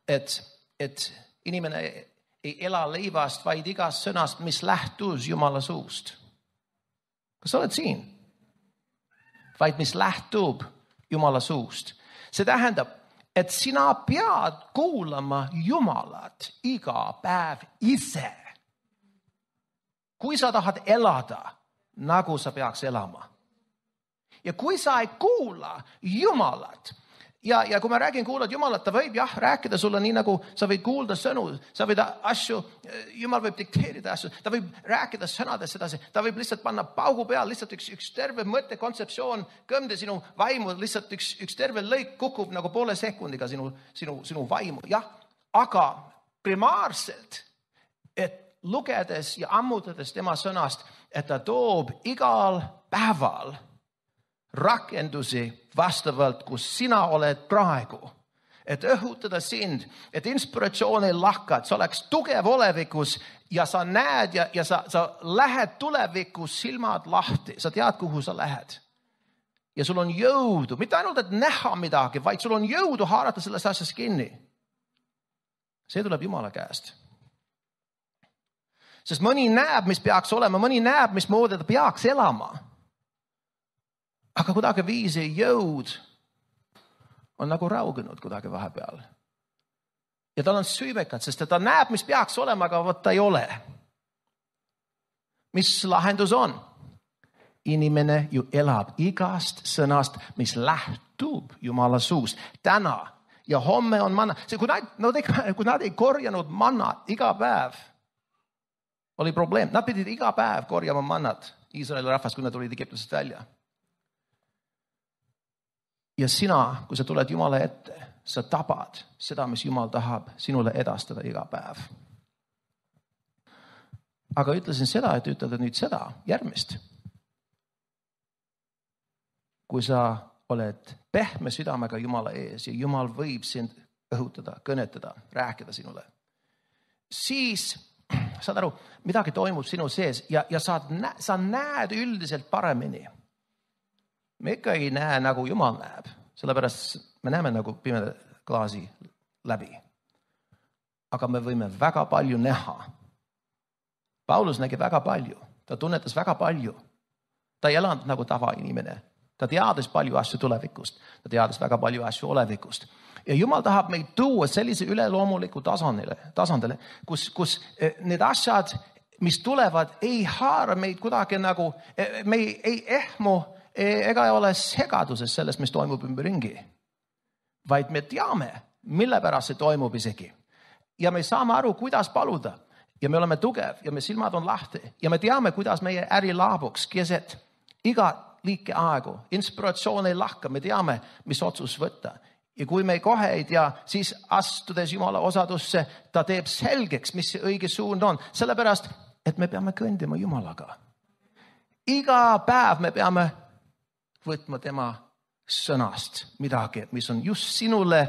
et inimene ei ela leivast, vaid igast sõnast, mis lähtus Jumala suust. Kas sa oled siin? Vaid mis lähtub Jumala suust. See tähendab, et sina pead kuulama Jumalat iga päev ise. Kui sa tahad elada, nagu sa peaks elama. Ja kui sa ei kuula Jumalat, ja kui ma räägin kuulad Jumalat, ta võib rääkida sulle nii, nagu sa võid kuulda sõnu, sa võid asju, Jumal võib dikteerida asju, ta võib rääkida sõnadest sedasi, ta võib lihtsalt panna paugu peal, lihtsalt üks terve mõtte kontseptsioon, kõmde sinu vaimu, lihtsalt üks terve lõik kukub nagu poole sekundiga sinu vaimu. Jah, aga primaarselt, et lugedes ja ammutades tema sõnast, et ta toob igal päeval rakendusi vastavalt, kus sina oled praegu. Et õhutada sind, et inspiratsioon ei lakka, et sa oleks tugev olevikus ja sa näed ja sa lähed tulevikus silmad lahti. Sa tead, kuhu sa lähed. Ja sul on jõudu, mitte ainult, et näha midagi, vaid sul on jõudu haarata sellest asjast kinni. See tuleb Jumala käest. Sest mõni näeb, mis peaks olema, mõni näeb, mis moodi ta peaks elama. Aga kuidagi viisi jõud on nagu raugenud kuidagi vahepeal. Ja tal on süüvekad, sest ta näeb, mis peaks olema, aga võtta ei ole. Mis lahendus on? Inimene ju elab igast sõnast, mis lähtub Jumala suust. Täna ja homme on manna. Kui nad ei korjanud mannat iga päev, oli probleem. Nad pidid iga päev korjama mannat Iisraeli rahvast, kui nad tulid Egiptusest välja. Ja sina, kui sa tuled Jumala ette, sa tabad seda, mis Jumal tahab sinule edastada iga päev. Aga ütlesin seda, et ütled nüüd seda järgmist. Kui sa oled pehme südamega Jumala ees ja Jumal võib sind õhutada, kõnetada, rääkida sinule, siis saad aru, midagi toimub sinu sees ja sa näed üldiselt paremini. Me ikka ei näe, nagu Jumal näeb. Sellepärast me näeme nagu pimeda klaasi läbi. Aga me võime väga palju näha. Paulus nägi väga palju. Ta tunnetas väga palju. Ta ei elanud nagu tavainimene. Ta teadis palju asju tulevikust. Ta teadis väga palju asju olevikust. Ja Jumal tahab meid tuua sellise üleloomuliku tasandile, kus need asjad, mis tulevad, ei haara meid kuidagi nagu, me ei ehmu ega ei ole segaduses sellest, mis toimub ümberringi. Vaid me teame, mille pärast see toimub isegi. Ja me saame aru, kuidas paluda. Ja me oleme tugev ja me silmad on lahti. Ja me teame, kuidas meie äri laabuks keset iga liike aegu. Inspiratsioon ei lahka, me teame, mis otsus võtta. Ja kui me kohe ei tea, siis astudes Jumala osadusse, ta teeb selgeks, mis see õige suund on. Sellepärast, et me peame kõndima Jumalaga. Iga päev me peame võtma tema sõnast midagi, mis on just sinule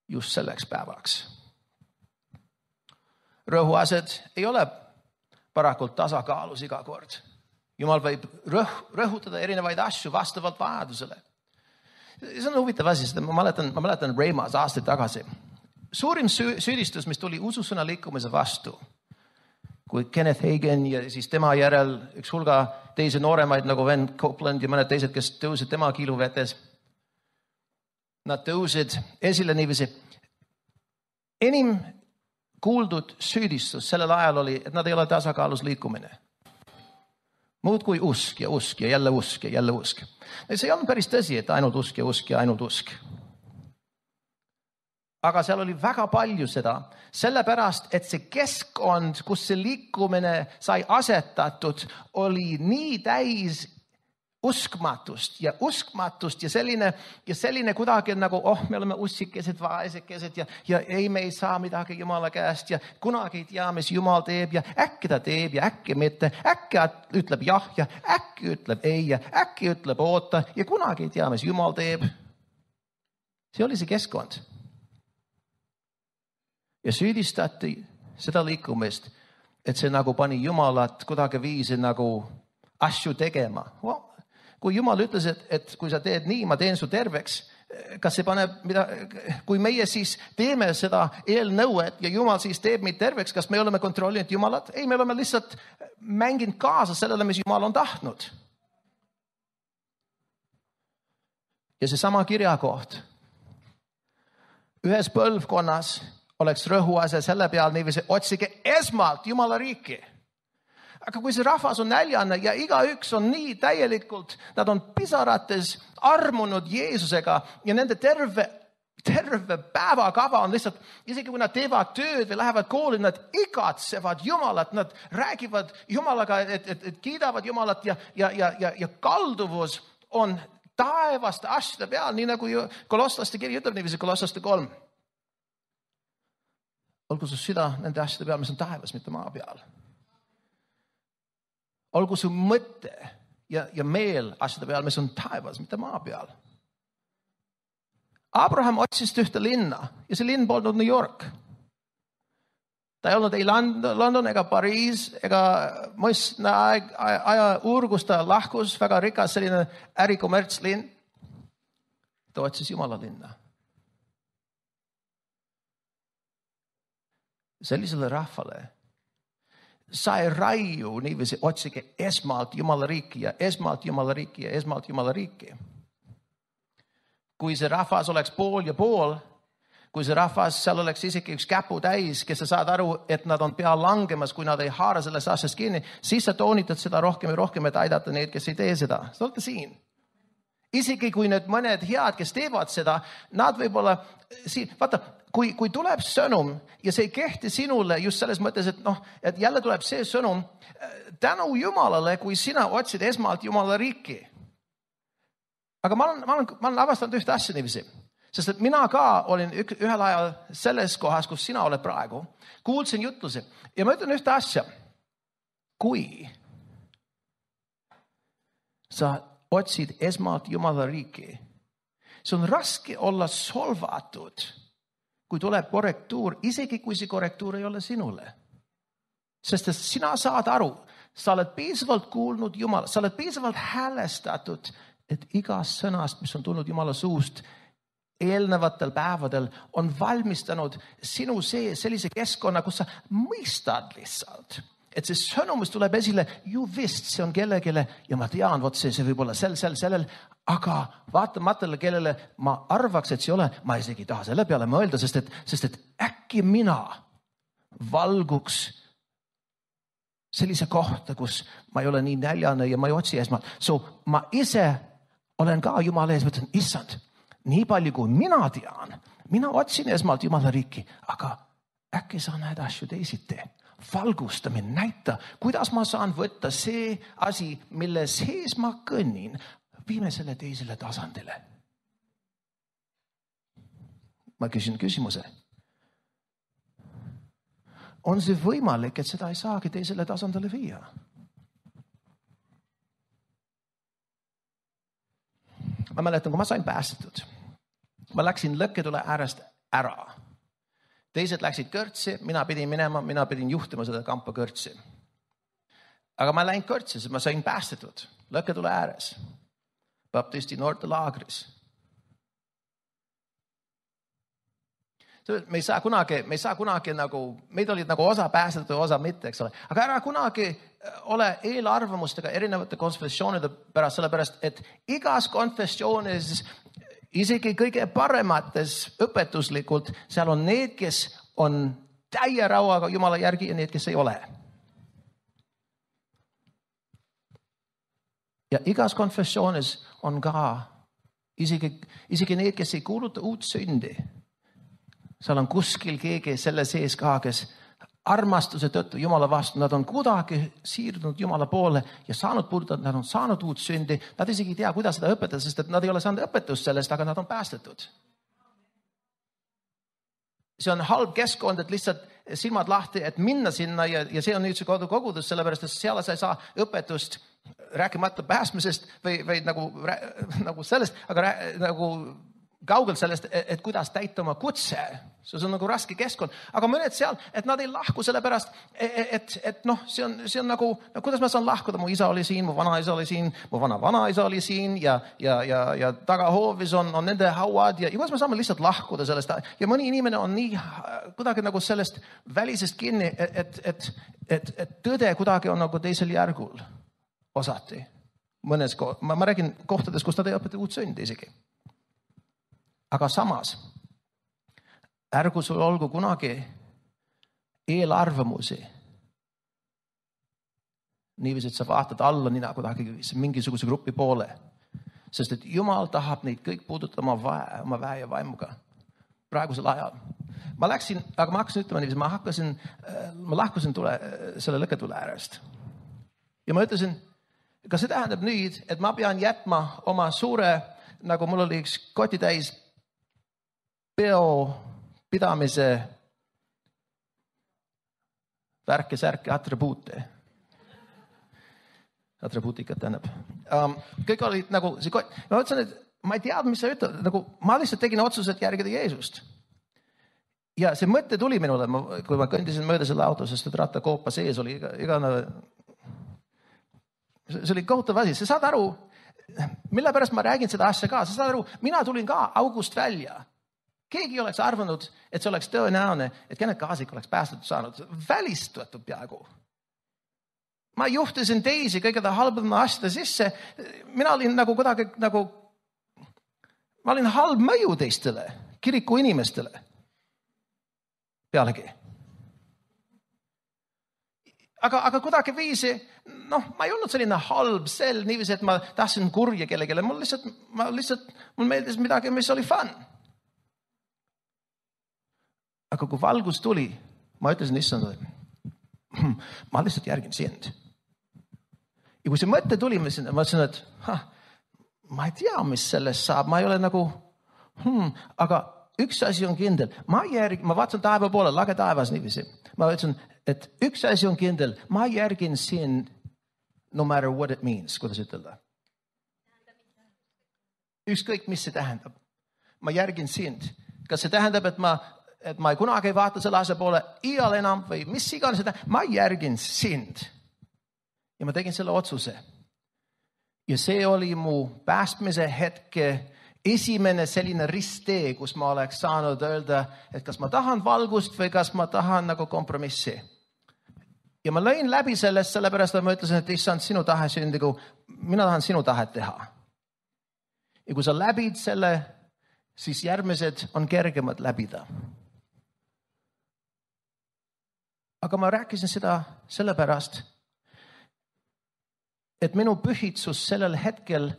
just selleks päevaks. Rõhuased ei ole parakult tasakaalus iga kord. Jumal võib rõhutada erinevaid asju vastavalt vajadusele. See on huvitav asi, sest ma mäletan Reimas aastaid tagasi. Suurim süüdistus, mis tuli ususõna liikumise vastu, kui Kenneth Hagin ja siis tema järel üks hulga teisi nooremaid nagu Ben Copeland ja mõned teised, kes tõusid tema kiiluvetes. Nad tõusid esile niiviisi. Enim kuuldud süüdistus sellel ajal oli, et nad ei ole tasakaalus liikumine. Muud kui usk ja usk ja jälle usk ja jälle usk. See ei olnud päris tõsi, et ainult usk ja usk ja ainult usk. Aga seal oli väga palju seda, sellepärast, et see keskkond, kus see liikumine sai asetatud, oli nii täis uskmatust ja selline kuidagi nagu, me oleme ussikesed, vaesekesed ja ei, me ei saa midagi Jumala käest ja kunagi ei tea, mis Jumal teeb ja äkki ta teeb ja äkki mitte, äkki ütleb jah ja äkki ütleb ei ja äkki ütleb oota ja kunagi ei tea, mis Jumal teeb. See oli see keskkond. Ja süüdistati seda liikumist, et see nagu pani Jumalat kuidagi viisi nagu asju tegema. Kui Jumal ütles, et kui sa teed nii, ma teen su terveks, kas see paneb, kui meie siis teeme seda eelnõuet ja Jumal siis teeb meid terveks, kas me oleme kontrollinud Jumalat? Ei, me oleme lihtsalt mänginud kaasa sellele, mis Jumal on tahtnud. Ja see sama kirjakoht. Ühes põlvkonnas oleks rõhuase selle peal niiviisi, otsige esmalt Jumala riiki. Aga kui see rahvas on näljane ja igaüks on nii täielikult, nad on pisarates armunud Jeesusega ja nende terve päevakava on lihtsalt, isegi kui nad teevad tööd või lähevad kooli, nad igatsevad Jumalat, nad räägivad Jumalaga, et kiidavad Jumalat ja kalduvus on taevaste asjade peal, nii nagu Kolosslaste kiri ütleb niiviisi, Kolosslaste 3. Olgu su süda nende asjade peal, mis on taevas, mitte maa peal. Olgu su mõtte ja meel asjade peal, mis on taevas, mitte maa peal. Abraham otsis ühte linna ja see linn polnud New York. Ta ei olnud ei London ega Pariis ega mõistna aja uurgus ta lahkus, väga rikas selline ärikommertslinn. Ta otsis Jumala linna. Sellisele rahvale sa ei raiu niiviisi, otsige esmalt Jumala riiki ja esmalt Jumala riiki ja esmalt Jumala riiki. Kui see rahvas oleks pool ja pool, kui see rahvas, seal oleks isegi üks käpu täis, kes sa saad aru, et nad on pea langemas, kui nad ei haara sellest asjast kinni, siis sa toonitad seda rohkem ja rohkem, et aidata neid, kes ei tee seda. Sa olete siin. Isegi kui need mõned head, kes teevad seda, nad võib-olla siin, vaata, kui tuleb sõnum ja see ei kehti sinule just selles mõttes, et jälle tuleb see sõnum tänu Jumalale, kui sina otsid esmalt Jumala riiki. Aga ma olen avastanud ühte asja niiviisi, sest et mina ka olin ühel ajal selles kohas, kus sina oled praegu, kuulsin jutlusi ja ma ütlen ühte asja. Kui sa otsid esmalt Jumala riiki, see on raske olla solvatud, kui tuleb korrektuur, isegi kui see korrektuur ei ole sinule. Sest sina saad aru, sa oled piisavalt kuulnud Jumala, sa oled piisavalt häälestatud, et igast sõnast, mis on tulnud Jumala suust eelnevatel päevadel, on valmistanud sinu sellise keskkonna, kus sa mõistad lihtsalt. Et see sõnum, mis tuleb esile, ju vist see on kellegile ja ma tean, vot see võib olla sellel, aga vaatamatele, kellele ma arvaks, et see ole, ma isegi ei taha selle peale mõelda, sest et äkki mina valguks sellise kohta, kus ma ei ole nii näljane ja ma ei otsi esmalt. Ma ise olen ka Jumala ees, mõtlen, issand, nii palju kui mina tean, mina otsin esmalt Jumala riiki, aga äkki sa näed asju teisiti. Valgustamine, näita, kuidas ma saan võtta see asi, mille sees ma kõnnin, viime selle teisele tasandile. Ma küsin küsimuse. On see võimalik, et seda ei saagi teisele tasandile viia? Ma mäletan, kui ma sain päästetud, ma läksin lõkketule äärest ära. Teised läksid kõrtsi, mina pidin juhtima seda kampa kõrtsi. Aga ma läin kõrtsi, sest ma sain päästetud lõkketule ääres, baptisti noortelaagris. Me ei saa kunagi nagu, meid olid nagu osa päästetud, osa mitte, eks ole. Aga ära kunagi ole eelarvamustega erinevate konfessioonide pärast, sellepärast, et igas konfessioonis isegi kõige paremates õpetuslikult, seal on need, kes on täie rauaga Jumala järgi ja need, kes ei ole. Ja igas konfessioonis on ka isegi need, kes ei kuuluta uut sündi. Seal on kuskil keegi selle sees ka, kes armastuse tõttu Jumala vastu, nad on kuidagi siirdunud Jumala poole ja saanud puudutada, nad on saanud uut sündi. Nad isegi ei tea, kuidas seda õpetada, sest et nad ei ole saanud õpetust sellest, aga nad on päästetud. See on halb keskkond, et lihtsalt silmad lahti, et minna sinna ja see on nüüd see kodukogudus, sellepärast, et seal sa ei saa õpetust rääkimata pääsmisest või nagu sellest, aga nagu kaugelt sellest, et kuidas täita oma kutse. See on nagu raske keskkond. Aga mõned seal, et nad ei lahku sellepärast, et see on nagu, kuidas ma saan lahkuda? Mu isa oli siin, mu vanaisa oli siin, mu vanaisa oli siin ja tagahoovis on nende hauad ja kuidas me saame lihtsalt lahkuda sellest. Ja mõni inimene on nii kuidagi nagu sellest välisest kinni, et tõde kuidagi on nagu teisel järgul osati. Ma räägin kohtades, kus nad ei õpeta uut sündi isegi. Aga samas, ärgu sul olgu kunagi eelarvamusi. Niiviisi, et sa vaatad alla nina kuidagi mingisuguse grupi poole. Sest et Jumal tahab neid kõik puudutada oma väe ja vaimuga. Praegusel ajal. Ma hakkasin ütlema niiviisi, ma lahkusin selle lõketule äärest. Ja ma ütlesin, kas see tähendab nüüd, et ma pean jätma oma suure, nagu mul oli üks kotitäis pidamise värke, atribuute. Atribuutikat tähendab. Kõik olid nagu, ma ütlesin, et ma ei teadnud, mis sa ütled. Nagu, ma lihtsalt tegin otsused järgida Jeesust. Ja see mõte tuli minule, kui ma kõndisin mööda selle auto, sest et rattakoopa sees oli see oli kohutav asi. Sa saad aru, mille pärast ma räägin seda asja ka. Sa saad aru, mina tulin ka august välja. Keegi oleks arvanud, et see oleks tõenäoline, et Kenneth Kaasik oleks päästetud saanud. Välistatud peaaegu. Ma juhtisin teisi kõigeda halbama asjade sisse. Mina olin nagu kuidagi ma olin halb mõju teistele, kiriku inimestele. Pealegi. Aga kuidagi viisi, ma ei olnud selline halb sel, niiviisi, et ma tahtsin kurja kellegele. Mul meeldis midagi, mis oli fun. Aga kui valgus tuli, ma ütlesin issandale, ma lihtsalt järgin sind. Ja kui see mõte tuli, ma ütlesin, et ma ei tea, mis sellest saab. Ma ei ole nagu, aga üks asi on kindel. Ma vaatasin taeva poole, lage taevas niiviisi. Ma ütlesin, et üks asi on kindel. Ma järgin sind no matter what it means, kuidas ütelda. Ükskõik, mis see tähendab. Ma järgin sind. Kas see tähendab, et ma ei kunagi ei vaata selle asja poole iial enam või mis iganes seda. Ma järgin sind. Ja ma tegin selle otsuse. Ja see oli mu päästmise hetke esimene selline risttee, kus ma oleks saanud öelda, et kas ma tahan valgust või kas ma tahan nagu kompromissi. Ja ma lõin läbi sellest, sellepärast et ma ütlesin, et issand, sinu tahe sündigu, mina tahan sinu tahet teha. Ja kui sa läbid selle, siis järgmised on kergemad läbida. Aga ma rääkisin seda sellepärast, et minu pühitsus sellel hetkel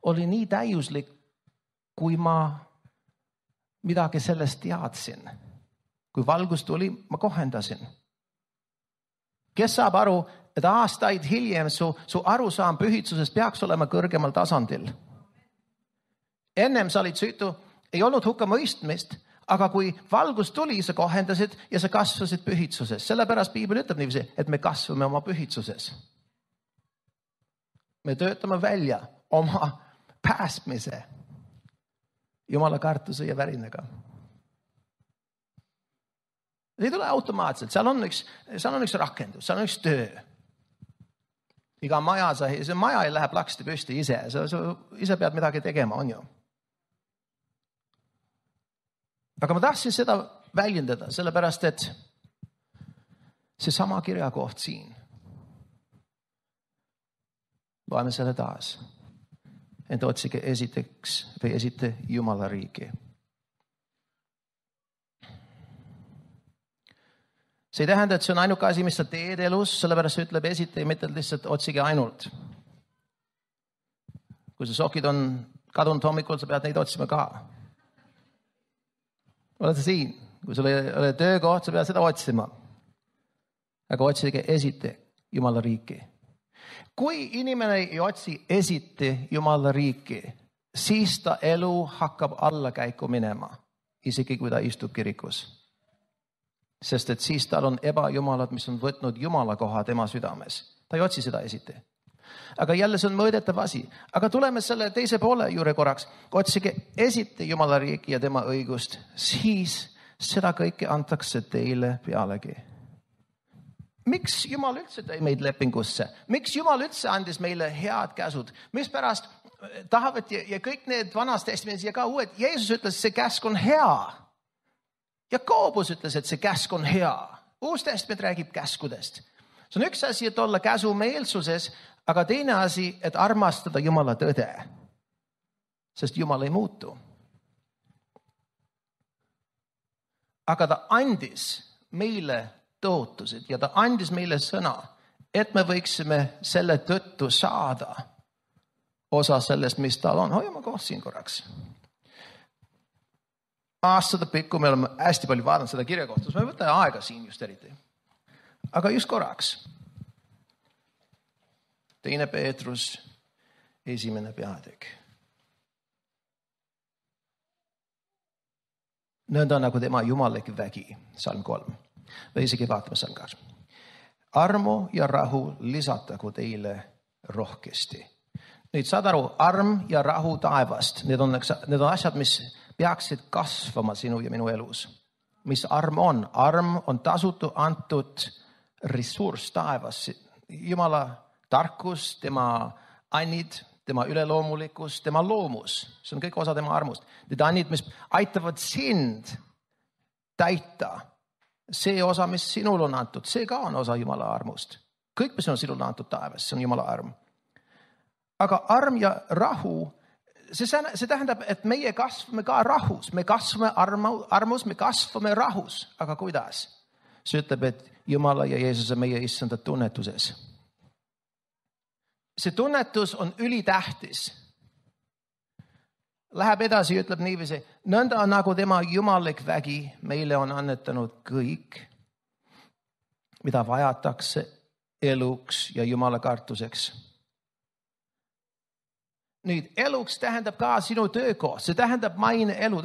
oli nii täiuslik, kui ma midagi sellest teadsin. Kui valgus tuli, ma kohendasin. Kes saab aru, et aastaid hiljem su arusaam pühitsusest peaks olema kõrgemal tasandil? Ennem sa olid süütu, ei olnud hukka mõistmist, aga kui valgus tuli, sa kohendasid ja sa kasvasid pühitsuses. Sellepärast Piibel ütleb niiviisi, et me kasvame oma pühitsuses. Me töötame välja oma päästmise Jumala kartuse ja värinaga. See ei tule automaatselt. Seal on üks rakendus, seal on üks töö. Iga maja, see maja ei lähe plaksti püsti ise. Sa ise pead midagi tegema, on ju. Aga ma tahtsin seda väljendada, sellepärast, et see sama kirjakoht siin. Loeme selle taas. Ent otsige esite Jumala riigi. See ei tähenda, et see on ainuke asi, mis sa teed elus, sellepärast see ütleb esite ja mitte lihtsalt otsige ainult. Kui sa sokid on kadunud hommikul, sa pead neid otsima ka. Oled sa siin? Kui sul ei ole töökoht, sa pead seda otsima. aga otsige esite Jumala riiki. Kui inimene ei otsi esite Jumala riiki, siis ta elu hakkab allakäiku minema, isegi kui ta istub kirikus. Sest et siis tal on ebajumalad, mis on võtnud Jumala koha tema südames. Ta ei otsi seda esite. Aga jälle see on mõõdetav asi. Aga tuleme selle teise poole juurde korraks. Otsige esite Jumala riiki ja tema õigust, siis seda kõike antakse teile pealegi. Miks Jumal üldse tõi meid lepingusse? Miks Jumal üldse andis meile head käsud? Mispärast tahavad ja kõik need vanas testamendis ja ka uued, Jeesus ütles, see käsk on hea. Jakobus ütles, et see käsk on hea. Uus testament räägib käskudest. See on üks asi, et olla käsumeelsuses, aga teine asi, et armastada Jumala tõde. Sest Jumal ei muutu. Aga ta andis meile tõotused ja ta andis meile sõna, et me võiksime selle tõttu saada osa sellest, mis tal on. Hoiame koht siin korraks. Aastate pikku me oleme hästi palju vaadanud seda kirja kohta, me võtame aega siin just eriti. Aga just korraks. 2. Peetrus 1. peatükk. Nõnda nagu tema jumallik vägi, salm 3. Või isegi vaatame salm 2. Armu ja rahu lisatagu teile rohkesti. Nüüd saad aru, arm ja rahu taevast, need on asjad, mis peaksid kasvama sinu ja minu elus. Mis arm on? Arm on tasutu antud ressurss taevas. Jumala tarkus, tema annid, tema üleloomulikkus, tema loomus. See on kõik osa tema armust. Need annid, mis aitavad sind täita. See osa, mis sinul on antud, see ka on osa Jumala armust. Kõik, mis on sinul antud taevas, see on Jumala arm. Aga arm ja rahu, see tähendab, et meie kasvame ka rahus. Me kasvame armus, me kasvame rahus. Aga kuidas? See ütleb, et Jumala ja Jeesuse meie issanda tunnetuses. See tunnetus on ülitähtis. Läheb edasi ja ütleb niiviisi, nõnda nagu tema jumallik vägi meile on annetanud kõik, mida vajatakse eluks ja Jumala kartuseks. Nüüd, eluks tähendab ka sinu töökoht, see tähendab maine elu.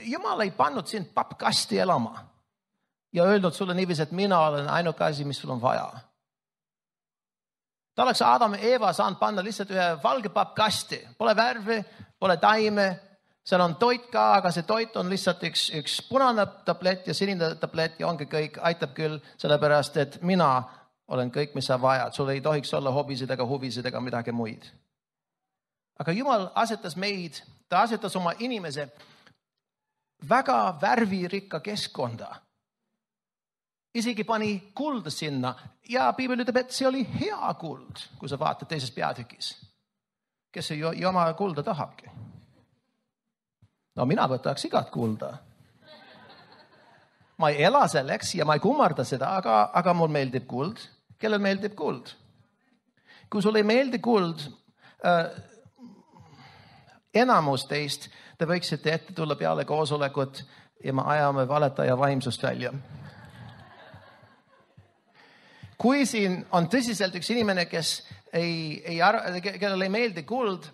Jumal ei pannud sind pappkasti elama ja öelnud sulle niiviisi, et mina olen ainuke asi, mis sul on vaja. Ta oleks Adam ja Eva saanud panna lihtsalt ühe valge pappkasti. Pole värvi, pole taime, seal on toit ka, aga see toit on lihtsalt üks punane tablett ja sinine tablett ja ongi kõik, aitab küll, sellepärast, et mina olen kõik, mis sa vajad. Sul ei tohiks olla hobisid ega huvisid ega midagi muid. Aga Jumal asetas meid, ta asetas oma inimese väga värvirikka keskkonda. Isegi pani kulda sinna ja Piibel ütleb, et see oli hea kuld, kui sa vaatad teises peatükis. Kes ei oma kulda tahabki? No mina võtaks igat kulda. Ma ei ela selleks ja ma ei kummarda seda, aga mul meeldib kuld. Kellel meeldib kuld? Kui sul ei meeldi kuld, enamus teist, te võiksite ette tulla peale koosolekut ja me ajame valetaja vaimsust välja. Kui siin on tõsiselt üks inimene, kes kellel ei meeldi kuld,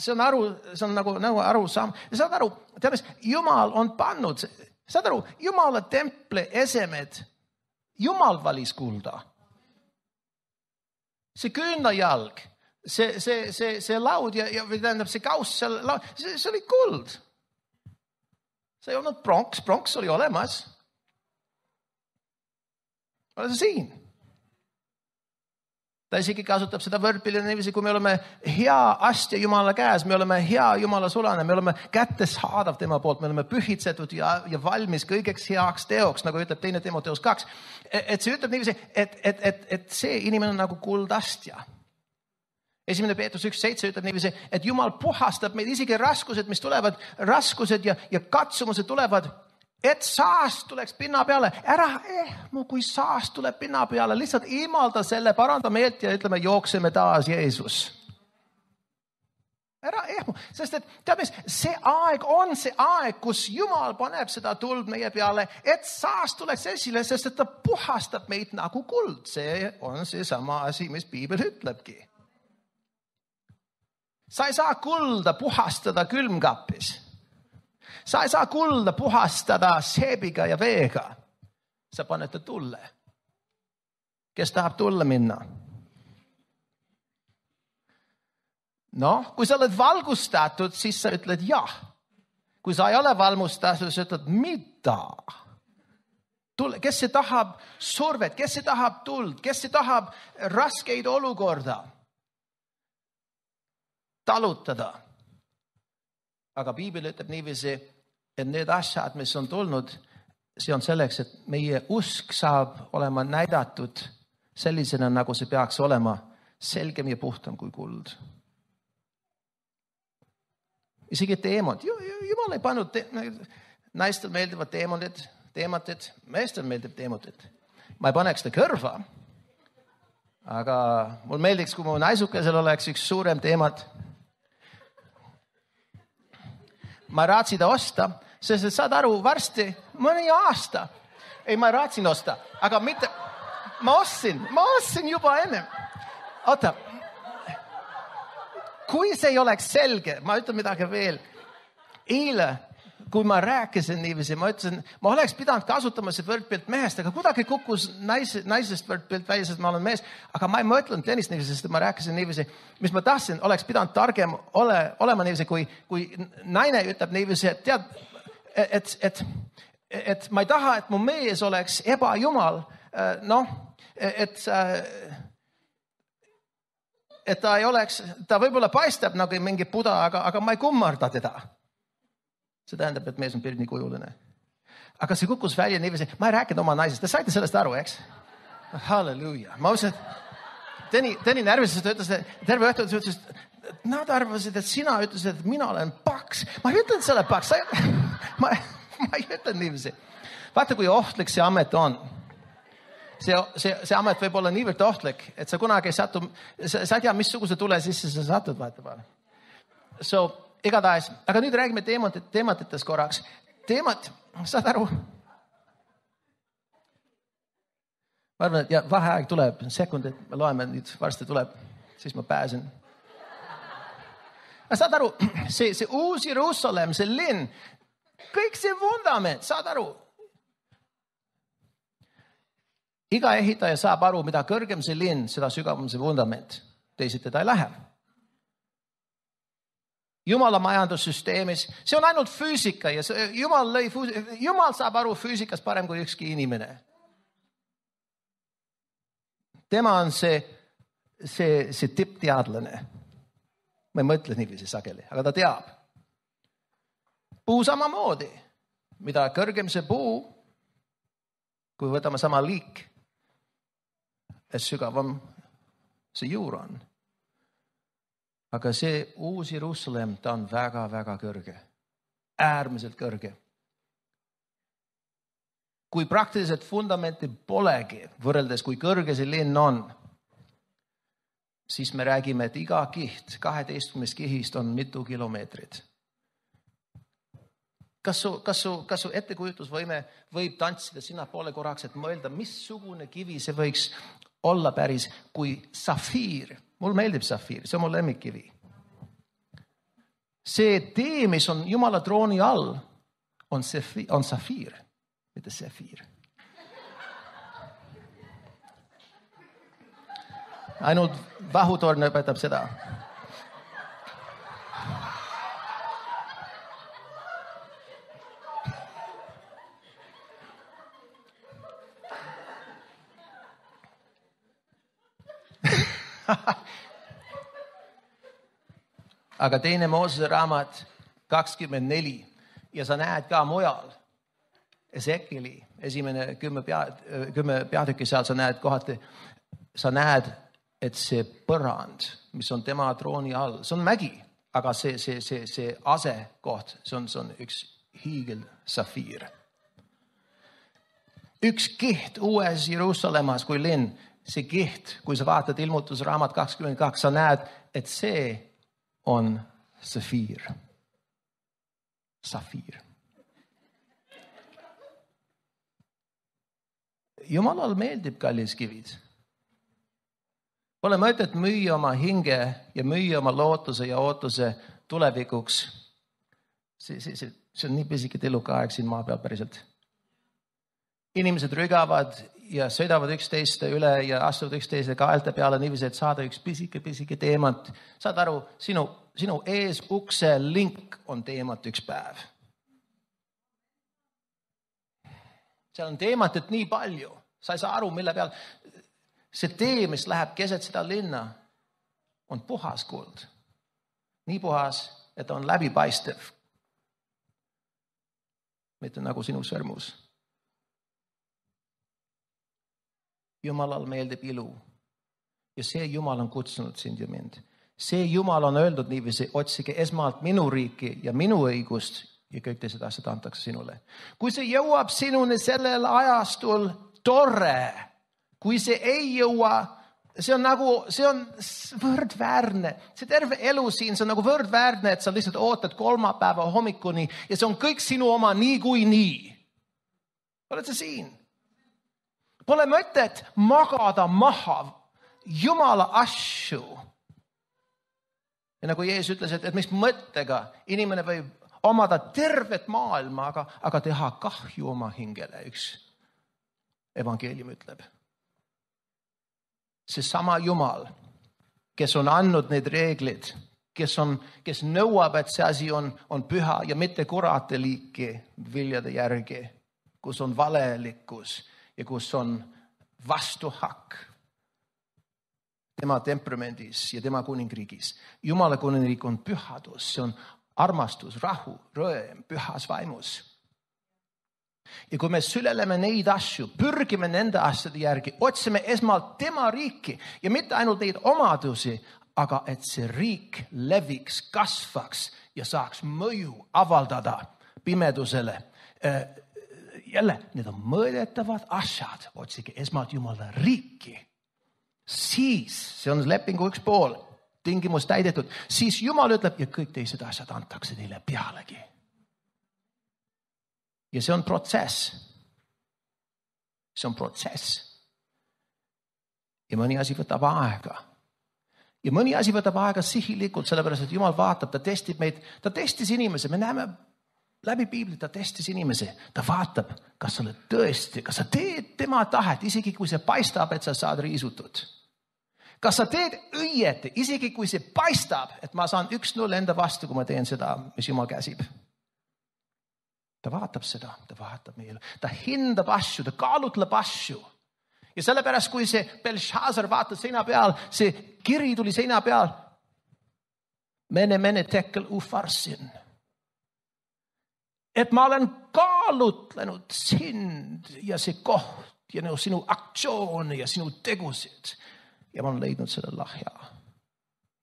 see on nagu arusaam. Saad aru, Jumal on pannud, Jumala temple esemed, Jumal valis kulda. See küünlajalg, see laud ja tähendab see kauss, see oli kuld. See ei olnud pronks oli olemas. Ole see siin. Ta isegi kasutab seda võrdpilli niiviisi, kui me oleme hea astja Jumala käes, me oleme hea Jumala sulane, me oleme kättesaadav tema poolt, me oleme pühitsetud ja valmis kõigeks heaks teoks, nagu ütleb 2. Timoteus 2. Et see ütleb niiviisi, et see inimene on nagu kuldastja. 1. Peetrus 1.7 ütleb niiviisi, et Jumal puhastab meid isegi raskused, mis tulevad, raskused ja katsumused tulevad, et saast tuleks pinna peale. Ära kui saast tuleb pinna peale, lihtsalt imalda selle, paranda meelt ja ütleme, jookseme taas Jeesus. Ära ehmu, sest et tead mis, see aeg on see aeg, kus Jumal paneb seda tuld meie peale, et saast tuleks esile, sest et ta puhastab meid nagu kuld. See on seesama asi, mis Piibel ütlebki. Sa ei saa kulda puhastada külmkapis. Sa ei saa kulda puhastada seebiga ja veega. Sa paned ta tulle. Kes tahab tulle minna? Kui sa oled valgustatud, siis sa ütled jah. Kui sa ei ole valgustatud, siis ütled mida? Kes see tahab survet? Kes see tahab tuld? Kes see tahab raskeid olukorda talutada? Aga Piibel ütleb niiviisi, et need asjad, mis on tulnud, see on selleks, et meie usk saab olema näidatud sellisena, nagu see peaks olema, selgem ja puhtam kui kuld. Isegi teemad. Jumal ei pannud, naistel meeldivad teematid, meestel meeldib teematid. Ma ei paneks seda kõrva, aga mul meeldiks, kui mu naisukesel oleks üks suurem teemat. Ma raatsin ta osta, sest et saad aru, varsti mõni aasta. Ei, ma raatsin osta, aga mitte, ma ostsin juba enne. Oota, kui see ei oleks selge, ma ütlen midagi veel. Eile, kui ma rääkisin niiviisi, ma ütlesin, ma oleks pidanud kasutama see võrdpilt mehest, aga kuidagi kukkus naisest võrdpilt välja, sest ma olen mees. Aga ma ei mõtlenud tennist niiviisi, sest ma rääkisin niiviisi, mis ma tahtsin, oleks pidanud targem olema niiviisi, kui naine ütleb niiviisi, et tead, et ma ei taha, et mu mees oleks ebajumal, et ta ei oleks, ta võib-olla paistab nagu mingi puda, aga ma ei kummarda teda. See tähendab, et mees on pilt nii kujuline. Aga see kukkus välja niiviisi, ma ei rääkinud oma naisest, te saite sellest aru, eks? Halleluuja. Ma ütlesin, et Tõni närvises, ta ütles, terve õhtu ütles, et nad arvasid, et sina ütlesid, et mina olen paks. Ma ei ütelnud selle paks, ma ei ütelnud niiviisi. Vaata, kui ohtlik see amet on. See amet võib olla niivõrd ohtlik, et sa kunagi ei satu, sa ei tea, missuguse tule sisse sa satud, vaata. So, igatahes, aga nüüd räägime teematitest korraks. Teemat, saad aru? Ma arvan, et vaheaeg tuleb, sekundid, me loeme nüüd, varsti tuleb, siis ma pääsen. Saad aru, see uus Jerusalem, see linn, kõik see vundament, saad aru? Iga ehitaja saab aru, mida kõrgem see linn, seda sügavam see vundament. Teisiti ta ei lähe. Jumala majandussüsteemis, see on ainult füüsika ja Jumal saab aru füüsikast parem kui ükski inimene. Tema on see tippteadlane. Ma ei mõtle niiviisi sageli, aga ta teab. Puu samamoodi. Mida kõrgem see puu, kui võtame sama liik, et sügavam see juur on. Aga see uus Jerusalem, ta on väga-väga kõrge. Äärmiselt kõrge. Kui praktiliselt fundamenti polegi, võrreldes kui kõrge see linn on, siis me räägime, et iga kiht, 12 kihist on mitu kilomeetrit. Kas su ettekujutusvõime võib tantsida sinna poole korraks, et mõelda, missugune kivi see võiks olla päris kui safiir. Mul meeldib safiir, see on mu lemmikkivi. See tee, mis on Jumala trooni all, on safiir, mitte sefiir. Ainult vahutorn õpetab seda. Aga teine Moosese raamat 24 ja sa näed ka mujal Ezekieli esimene 10 peatükki seal sa näed kohati, sa näed, et see põrand, mis on tema trooni all, see on mägi, aga see asekoht, see on üks hiigel safiir. Üks kiht uues Jeruusalemmas kui linn, see kiht, kui sa vaatad ilmutusraamat 22, sa näed, et see on safiir. Jumalal meeldib kalliskivid. Pole mõtet müüa oma hinge ja müüa oma lootuse ja ootuse tulevikuks. See on nii pisike tillukaeg siin maa peal päriselt. Inimesed rügavad ja sõidavad üksteist üle ja astuvad üksteise kaelte peale niiviisi, et saada üks pisike teemant. Saad aru, sinu ees ukse link on teemant üks päev. Seal on teemantit nii palju. Sa ei saa aru, mille peal. See tee, mis läheb keset seda linna, on puhas kuld. Nii puhas, et on läbipaistev. Mitte nagu sinu sõrmus. Jumalal meeldib ilu. Ja see Jumal on kutsunud sind ja mind. See Jumal on öeldud niiviisi, otsige esmalt minu riiki ja minu õigust ja kõik teised asjad antakse sinule. Kui see jõuab sinuni sellel ajastul, tore. Kui see ei jõua, see on võrdväärne. See terve elu siin, see on nagu võrdväärne, et sa lihtsalt ootad kolmapäeva hommikuni ja see on kõik sinu oma nii kui nii. Oled sa siin? Pole mõtet magada maha Jumala asju. Ja nagu Jeesus ütles, et mis mõttega inimene võib omada tervet maailma, aga teha kahju oma hingele, üks evangeelium ütleb. See sama Jumal, kes on andnud need reeglid, kes nõuab, et see asi on püha ja mitte kurate liiki viljade järgi, kus on valelikkus ja kus on vastuhakk tema temperamendis ja tema kuningriigis. Jumala kuningriik on pühadus, see on armastus, rahu, rõõm, pühas vaimus. Ja kui me süleleme neid asju, pürgime nende asjade järgi, otsime esmalt tema riiki ja mitte ainult neid omadusi, aga et see riik leviks, kasvaks ja saaks mõju avaldada pimedusele. Jälle, need on mõõdetavad asjad, otsige esmalt Jumala riiki. Siis, see on lepingu üks pool, tingimus täidetud, siis Jumal ütleb ja kõik teised asjad antakse teile pealegi. Ja see on protsess. See on protsess. Ja mõni asi võtab aega. Ja mõni asi võtab aega sihilikult, sellepärast, et Jumal vaatab, ta testib meid, ta testis inimese, me näeme läbi piiblit, ta testis inimese, ta vaatab, kas sa oled tõesti, kas sa teed tema tahet, isegi kui see paistab, et sa saad riisutud. Kas sa teed õieti, isegi kui see paistab, et ma saan 1-0 enda vastu, kui ma teen seda, mis Jumal käsib. Ta vaatab seda, ta vaatab meile, ta hindab asju, ta kaalutleb asju. Ja sellepärast, kui see Belshazzar vaatas seina peal, see kiri tuli seina peal, mene tekel ufarsin. Et ma olen kaalutlenud sind ja see koht ja sinu aktsioone ja sinu tegusid. Ja ma olen leidnud selle lahja.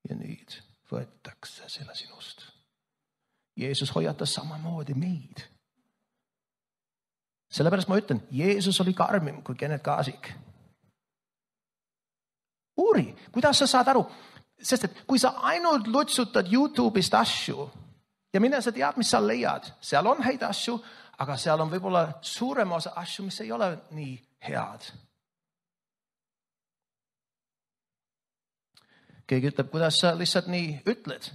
Ja nüüd võetakse selle sinust. Jeesus hoiatas samamoodi meid. Sellepärast ma ütlen, Jeesus oli karmim kui Kenneth Kaasik. Uuri, kuidas sa saad aru? Sest et kui sa ainult lutsutad YouTube'ist asju ja mine sa tead, mis sa leiad. Seal on häid asju, aga seal on võib-olla suurem osa asju, mis ei ole nii head. Keegi ütleb, kuidas sa lihtsalt nii ütled.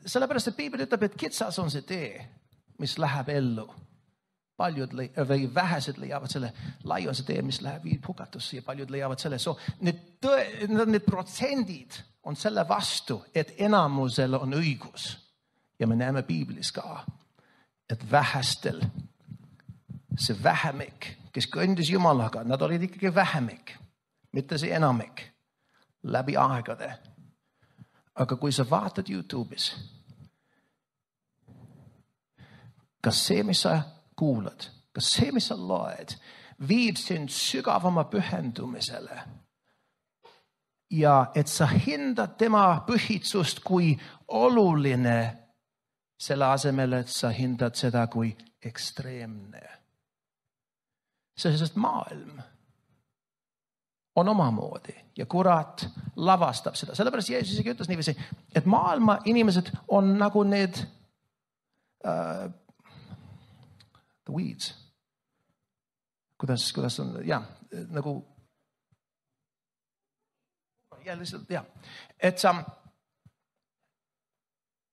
Sellepärast, et piibel ütleb, et kitsas on see tee, mis läheb ellu. Paljud või vähesed leiavad selle, lai on see tee, mis läheb hukatusse ja paljud leiavad selle. So, need protsendid on selle vastu, et enamusel on õigus. Ja me näeme piiblis ka, et vähestel, see vähemik, kes kõndis Jumalaga, nad olid ikkagi vähemik, mitte see enamik, läbi aegade. Aga kui sa vaatad YouTube'is, kas see, mis sa kuulad, kas see, mis sa loed, viib sind sügavama pühendumisele ja et sa hindad tema pühitsust kui oluline selle asemel, et sa hindad seda kui ekstreemne. Sest maailm on omamoodi ja kurat lavastab seda. Sellepärast Jeesus isegi ütles niiviisi, et maailma inimesed on nagu need the weeds. Kuidas on, nagu lihtsalt, et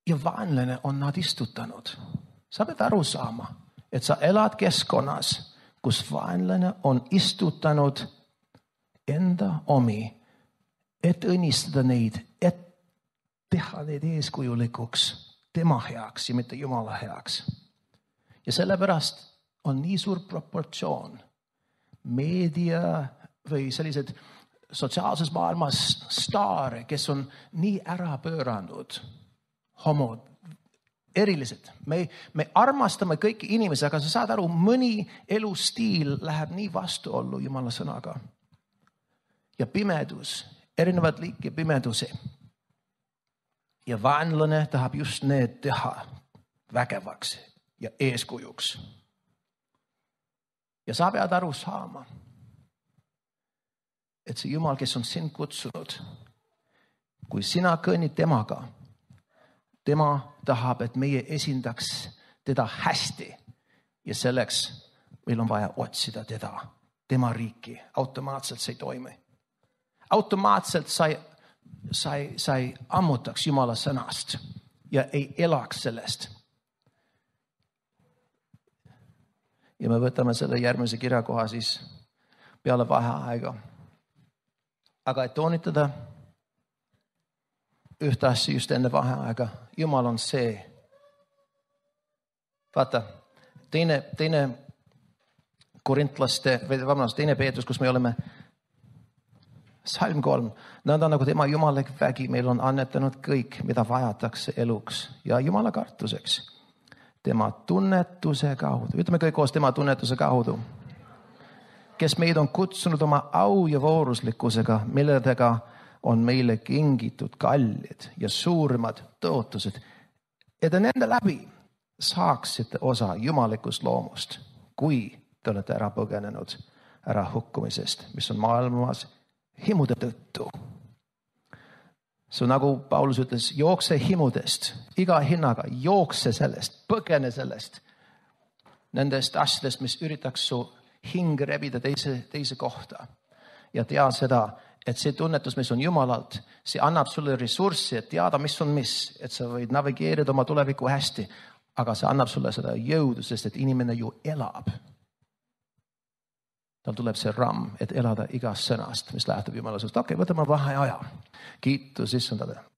ja vaenlane on nad istutanud. Sa pead aru saama, et sa elad keskkonnas, kus vaenlane on istutanud enda omi, et õnnistada neid, et teha neid eeskujulikuks tema heaks ja mitte Jumala heaks. Ja sellepärast on nii suur proportsioon meedia või sellised sotsiaalses maailmas staare, kes on nii ära pööranud, homod, erilised. Me armastame kõiki inimesi, aga sa saad aru, mõni elustiil läheb nii vastuollu Jumala sõnaga. Ja pimedus, erinevad liiki pimedusi. Ja vaenlane tahab just need teha vägevaks ja eeskujuks. Ja sa pead aru saama, et see Jumal, kes on sind kutsunud, kui sina kõnnid temaga, tema tahab, et meie esindaks teda hästi ja selleks meil on vaja otsida teda, tema riiki. Automaatselt see ei toimi. Automaatselt sa ei ammutaks Jumala sõnast ja ei elaks sellest. Ja me võtame selle järgmise kirjakoha siis peale vaheaega. Aga et toonitada ühte asja just enne vaheaega, Jumal on see. Vaata, teine Korintlaste, teine Peetrus, kus me oleme, Salm 3, nad on nagu tema jumalik vägi, meil on annetanud kõik, mida vajatakse eluks ja Jumala kartuseks. Tema tunnetuse kaudu, ütleme kõik koos tema tunnetuse kaudu, kes meid on kutsunud oma au ja vooruslikkusega, milledega on meile kingitud kallid ja suurimad tõotused, et nende läbi saaksite osa jumalikust loomust, kui te olete ära põgenenud ära hukkumisest, mis on maailmas himude tõttu. See nagu Paulus ütles, jookse himudest, iga hinnaga, jookse sellest, põgene sellest, nendest asjadest, mis üritaks su hing rebida teise kohta. Ja tea seda, et see tunnetus, mis on Jumalalt, see annab sulle ressurssi, et teada, mis on mis, et sa võid navigeerida oma tulevikku hästi, aga see annab sulle seda jõudu, sest et inimene ju elab. Tal tuleb see ramm, et elada igast sõnast, mis lähtub Jumala suust. Okei, võtame vaheaja. Kiitus issandale.